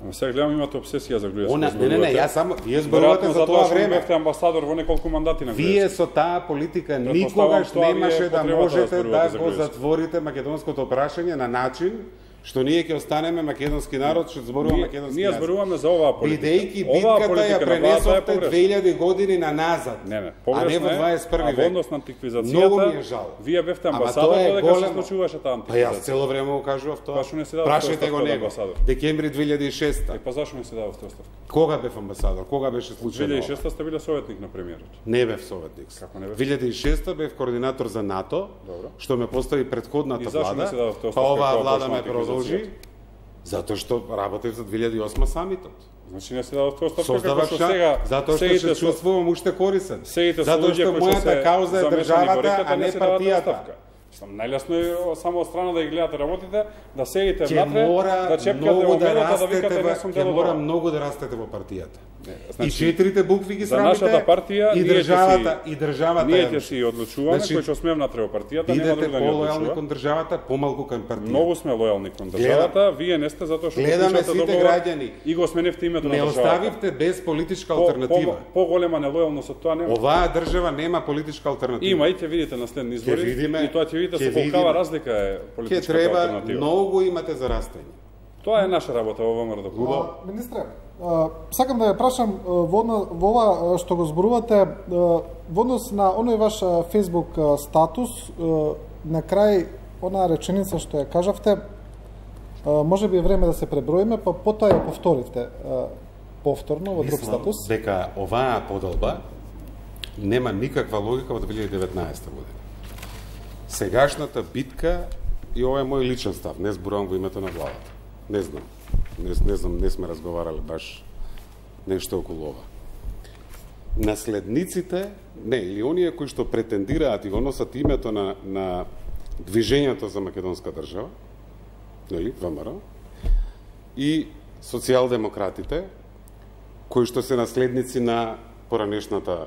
Ама сега гледам имате обсесија за Груевски. Не, јас само вие зборувате за тоа време. Бевте амбасадор во неколку мандати на Вие Груевски. со таа политика Предпоставам, никогаш тоа ви е немаше да потребата да можете зборувате да за го Груевски. затворите македонското прашање на начин што ние ќе останеме македонски народ, што зборува македонски Ние јазик. зборуваме за оваа политика. Бидејќи Оваа битката ја политика на владата е пренесовте погрешна. 2000 години на назад, Не, а не погрешна во е, 21 а во век. однос на Многу антиквизацијата, ми е жал. вие бевте Ама амбасадор тоа е додека се големо. случуваше таа Па јас антиквизација. цело време го кажував тоа. Па што не си дадовте Прашајте оставка го од него. амбасадор? Декември 2006. Па зашо не се дадовте оставка? Кога бев амбасадор? Кога беше случајно? 2006 сте биле советник на премиерот. Не бев советник. Како не бев? 2006 бев координатор за НАТО, Добро. што ме постави предходната И зашо не влада, се дадовте па оставка оваа кога влада почна ме продолжи, антиквизацијата? затоа што работев за 2008 самитот. Значи не се дадовте оставка како Создавав што шанс, сега затоа што седите се со- чувствувам уште корисен. Седите со Затоа луѓе што кои што мојата се кауза е замешани во државата, реката, а не се давате партијата. оставка. Мислам, најлесно е само од страна да ги гледате работите, да седите Ќе внатре, мора да чепкате многу во да медата, да растете, викате не сум ќе дел од мора ова. многу да растете во партијата. Значи, И 4 букви ги за срамите, нашата партија и ние ќе државата, си- и државата. Ние ја ќе си одлучуваме Значи, кој ќе сме внатре во партијата, нема Бидете друг да ни полојални одлучува. кон државата, помалку кон партијата. Многу сме лојални кон државата, вие не сте затоа што Гледаме подпишате сите договор граѓани. и го сменевте името на Не државата. оставивте без политичка алтернатива. Поголема нелојалност од тоа нема. Оваа држава нема политичка алтернатива. Има и ќе видите на следни избори. Ќе видиме, и тоа ќе видите ќе со колкава видиме. разлика е Ќе политичката треба алтернатива. многу имате за растење. Тоа е наша работа во ВМРО. Министре, сакам да ја прашам во ова што го зборувате во однос на оној ваш Facebook статус, на крај онаа реченица што ја кажавте, може би е време да се преброиме, па потоа ја повторите повторно во друг статус. Дека оваа подолба нема никаква логика во 2019 година. Сегашната битка, и ова е мој личен став, не зборувам во името на владата. Не знам. Не знам, не сме разговарале баш нешто околу ова. Наследниците, не, или оние кои што претендираат и го носат името на движењето за македонска држава, нели, ВМРО, и социјалдемократите, кои што се наследници на поранешната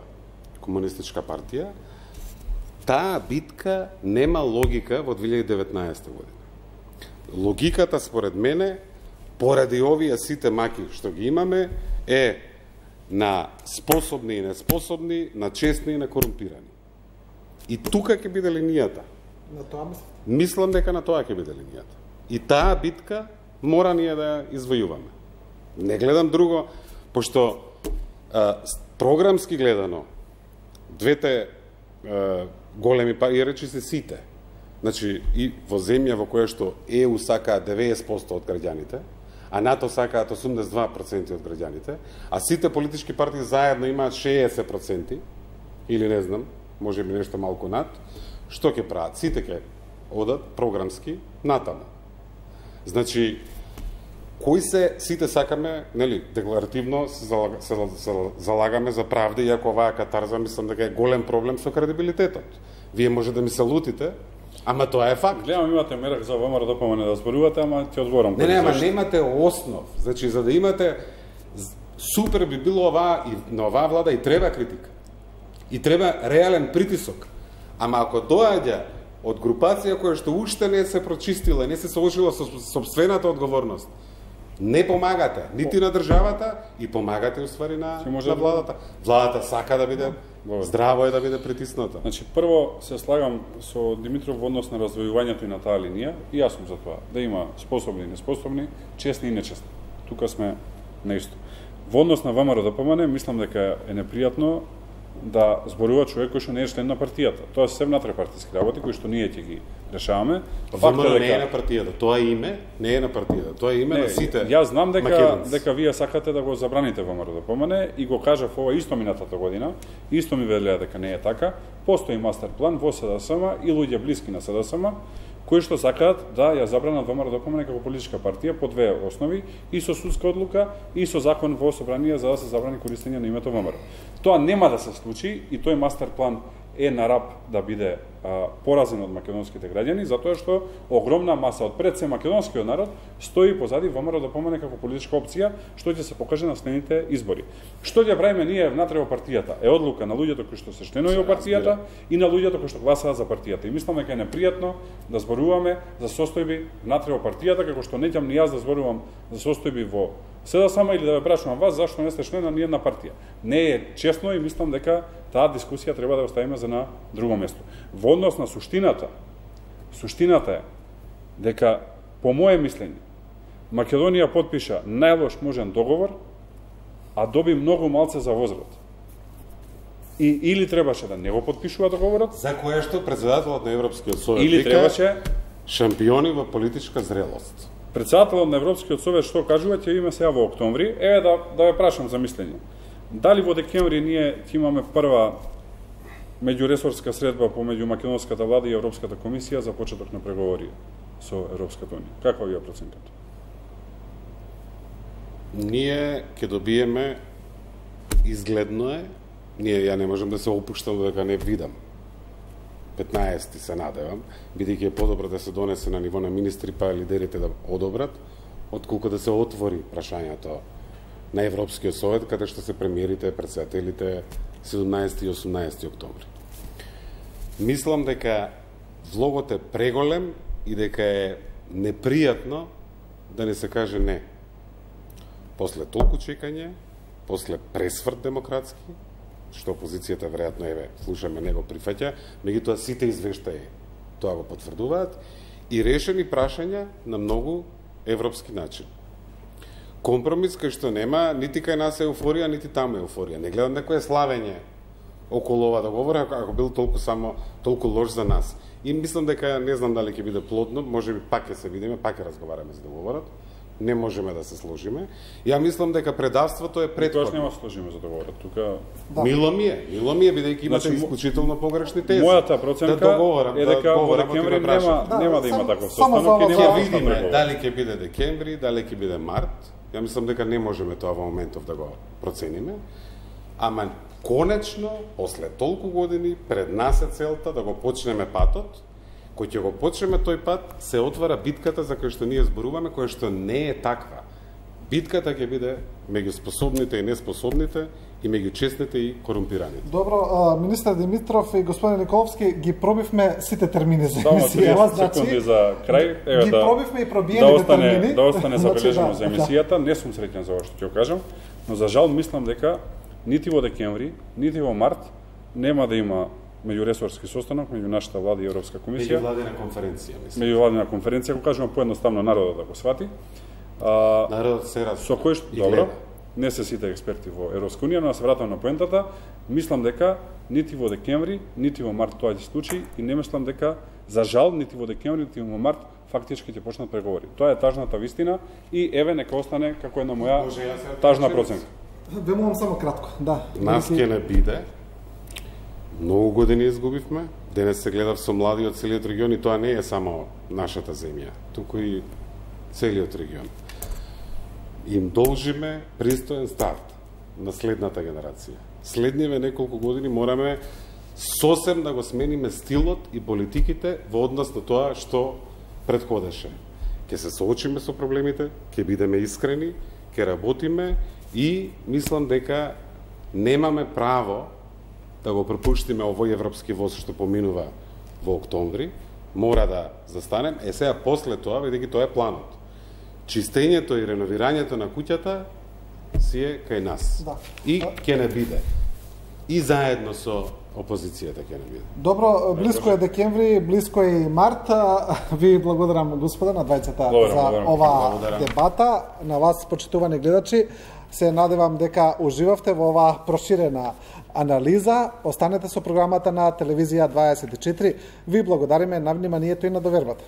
комунистичка партија, таа битка нема логика во 2019 година. Логиката, според мене, поради овие сите маки што ги имаме, е на способни и неспособни, на честни и на корумпирани. И тука ќе биде линијата. На тоа мислите? Мислам дека на тоа ќе биде линијата. И таа битка мора ние да ја извојуваме. Не гледам друго, пошто програмски гледано, двете големи пари, речи се сите. Значи, и во земја во која што ЕУ сакаат 90% од граѓаните, а НАТО сакаат 82% од граѓаните, а сите политички партии заедно имаат 60%, или не знам, може би нешто малку над, што ќе прават? Сите ќе одат програмски натаму. Значи, кои се, сите сакаме, нели, декларативно се залагаме за правда, иако оваа катарза мислам дека е голем проблем со кредибилитетот. Вие може да ми се лутите, ама тоа е факт. Гледам, имате мерак за ВМРО ДПМН да зборувате, ама ти одговорам. Не, ама немате основ. Значи, за да имате, супер би било оваа, и на оваа влада и треба критика. И треба реален притисок. Ама ако доаѓа од групација која што уште не се прочистила, не се сложила со собствената одговорност, не помагате нити на државата и помагате уствари на владата. Владата сака да биде здраво е да биде притисната. Значи, прво се слагам со Димитров во однос на раздвојувањето и на таа линија, и јас сум за тоа, да има способни и неспособни, честни и нечестни. Тука сме наисто. Во однос на ВМРО ДПМН, мислам дека е непријатно да зборува човек кој што не е член на партијата. Тоа се внатре-партиски работи кои што ние ќе ги решаваме. ВМРО не е на партијата, тоа име не е на партијата, тоа е име на сите. Јас знам дека вие сакате да го забраните ВМРО ДПМН и го кажав ова исто минатата година, исто ми велеа дека не е така. Постои мастер план во СДСМ и луѓе блиски на СДСМ кои што сакаат да ја забранат ВМРО ДПМН како политичка партија по две основи, и со судска одлука и со закон во собрание за да се забрани користење на името ВМРО. Тоа нема да се случи и тој мастер план е на рап да биде поразен од македонските граѓани, затоа што огромна маса од пред се македонскиот народ стои позади ВМРО ДПМН како политичка опција, што ќе се покаже на следните избори. Што ќе правиме ние внатре во партијата е одлука на луѓето кои што се членови во партијата и на луѓето кои што гласаат за партијата. И мислам дека е непријатно да зборуваме за состојби внатре во партијата, како што не ќам ни јас да зборувам за состојби во СДСМ или да ве прашувам вас зашто не сте член на ниедна партија. Не е честно и мислам дека таа дискусија треба да оставиме за на друго место. Во однос на суштината е дека, по моje мислење, Македонија потпиша најлош можен договор, а доби многу малце за возврат. И или требаше да не го потпишува договорот, за кое што председателот на Европскиот совет или требаше шампиони во политичка зрелост. Председателот на Европскиот совет што кажува ќе има сега во октомври, да ве прашам за мислење. Дали во декември ние ќе имаме прва меѓуресорска средба помеѓу македонската влада и Европската комисија за почеток на преговори со Европската унија? Каква ви е проценката? Ние ќе добиеме, изгледно е, ја не можам да се опуштам дека не видам. 15 се надевам, бидејќи е подобро да се донесе на ниво на министри па лидерите да одобрат, отколку да се отвори прашањето на Европскиот совет, каде што се премиерите, председателите 17 и 18 октомври. Мислам дека влогот е преголем и дека е непријатно да не се каже не. После толку чекање, после пресврт демократски, што опозицијата веројатно слушаме не го прифаќа, меѓутоа сите извештаи тоа го потврдуваат и решени прашања на многу европски начин. Компромис кај што нема нити кај нас еуфорија, нити таму еуфорија. Не гледам некое славење околу ова договор, ако бил толку лош за нас. И мислам дека не знам дали ќе биде плодно, можеби пак ќе се видиме, пак ќе разговараме за договорот. Не можеме да се сложиме. Ја мислам дека предавството е претходно. Тоа нема да сложиме за договорот. Тука Мило ми е бидејќи имате исклучително погрешни тези. Мојата проценка е дека во декември нема да има таков состанок и нема да видиме дали ќе биде декември, дали ќе биде март. Ја мислам дека не можеме тоа во моментов да го процениме. Ама конечно, после толку години, пред нас е целта да го почнеме патот. Кој ќе го почнеме тој пат, се отвара битката за која што ние зборуваме, која што не е таква. Битката ќе биде меѓу способните и неспособните и меѓу честните и корумпираните. Добро, министар Димитров и господин Николовски, ги пробивме сите термини за емисија. Секунди за крај. Ги пробивме и пробиените термини. Да остане забележено за емисијата. Не сум среќен за ова што ќе кажам, но за жал мислам дека нити во декември, нити во март нема да има меѓуресорски состанок меѓу нашата влада и Европска комисија. Меѓувладина конференција, мислам. Меѓувладина конференција, го кажувам поедноставно народот да го свати. Народот се раз. Со кој што добро, не се сите експерти во Европска унија, но да се вратам на поентата, мислам дека нити во декември, нити во март тоа ќе се случи и не мислам дека за жал нити во декември, нити во март фактички ќе почнат преговори. Тоа е тажната вистина и еве нека остане како една моја тажна проценка. Ве молам само кратко, да. Нас ќе не биде. Многу години изгубивме, денес се гледав со млади од целиот регион и тоа не е само нашата земја, туку и целиот регион. Им должиме пристоен старт на следната генерација. Следниве неколку години мораме сосем да го смениме стилот и политиките во однос на тоа што претходеше. Ќе се соочиме со проблемите, ќе бидеме искрени, ќе работиме и мислам дека немаме право да го пропуштиме овој европски воз што поминува во октомври. Мора да застанем. Сега после тоа, бидејќи тоа е планот. Чистењето и реновирањето на куќата си е кај нас. Да. И ќе не биде. И заедно со опозицијата ќе не биде. Добро, близко е декември, близко е и март. Ви благодарам, господа, на двајцата за ова дебата. На вас, почитувани гледачи, се надевам дека уживавте во оваа проширена анализа. Останете со програмата на Телевизија 24. Ви благодариме на вниманието и на довербата.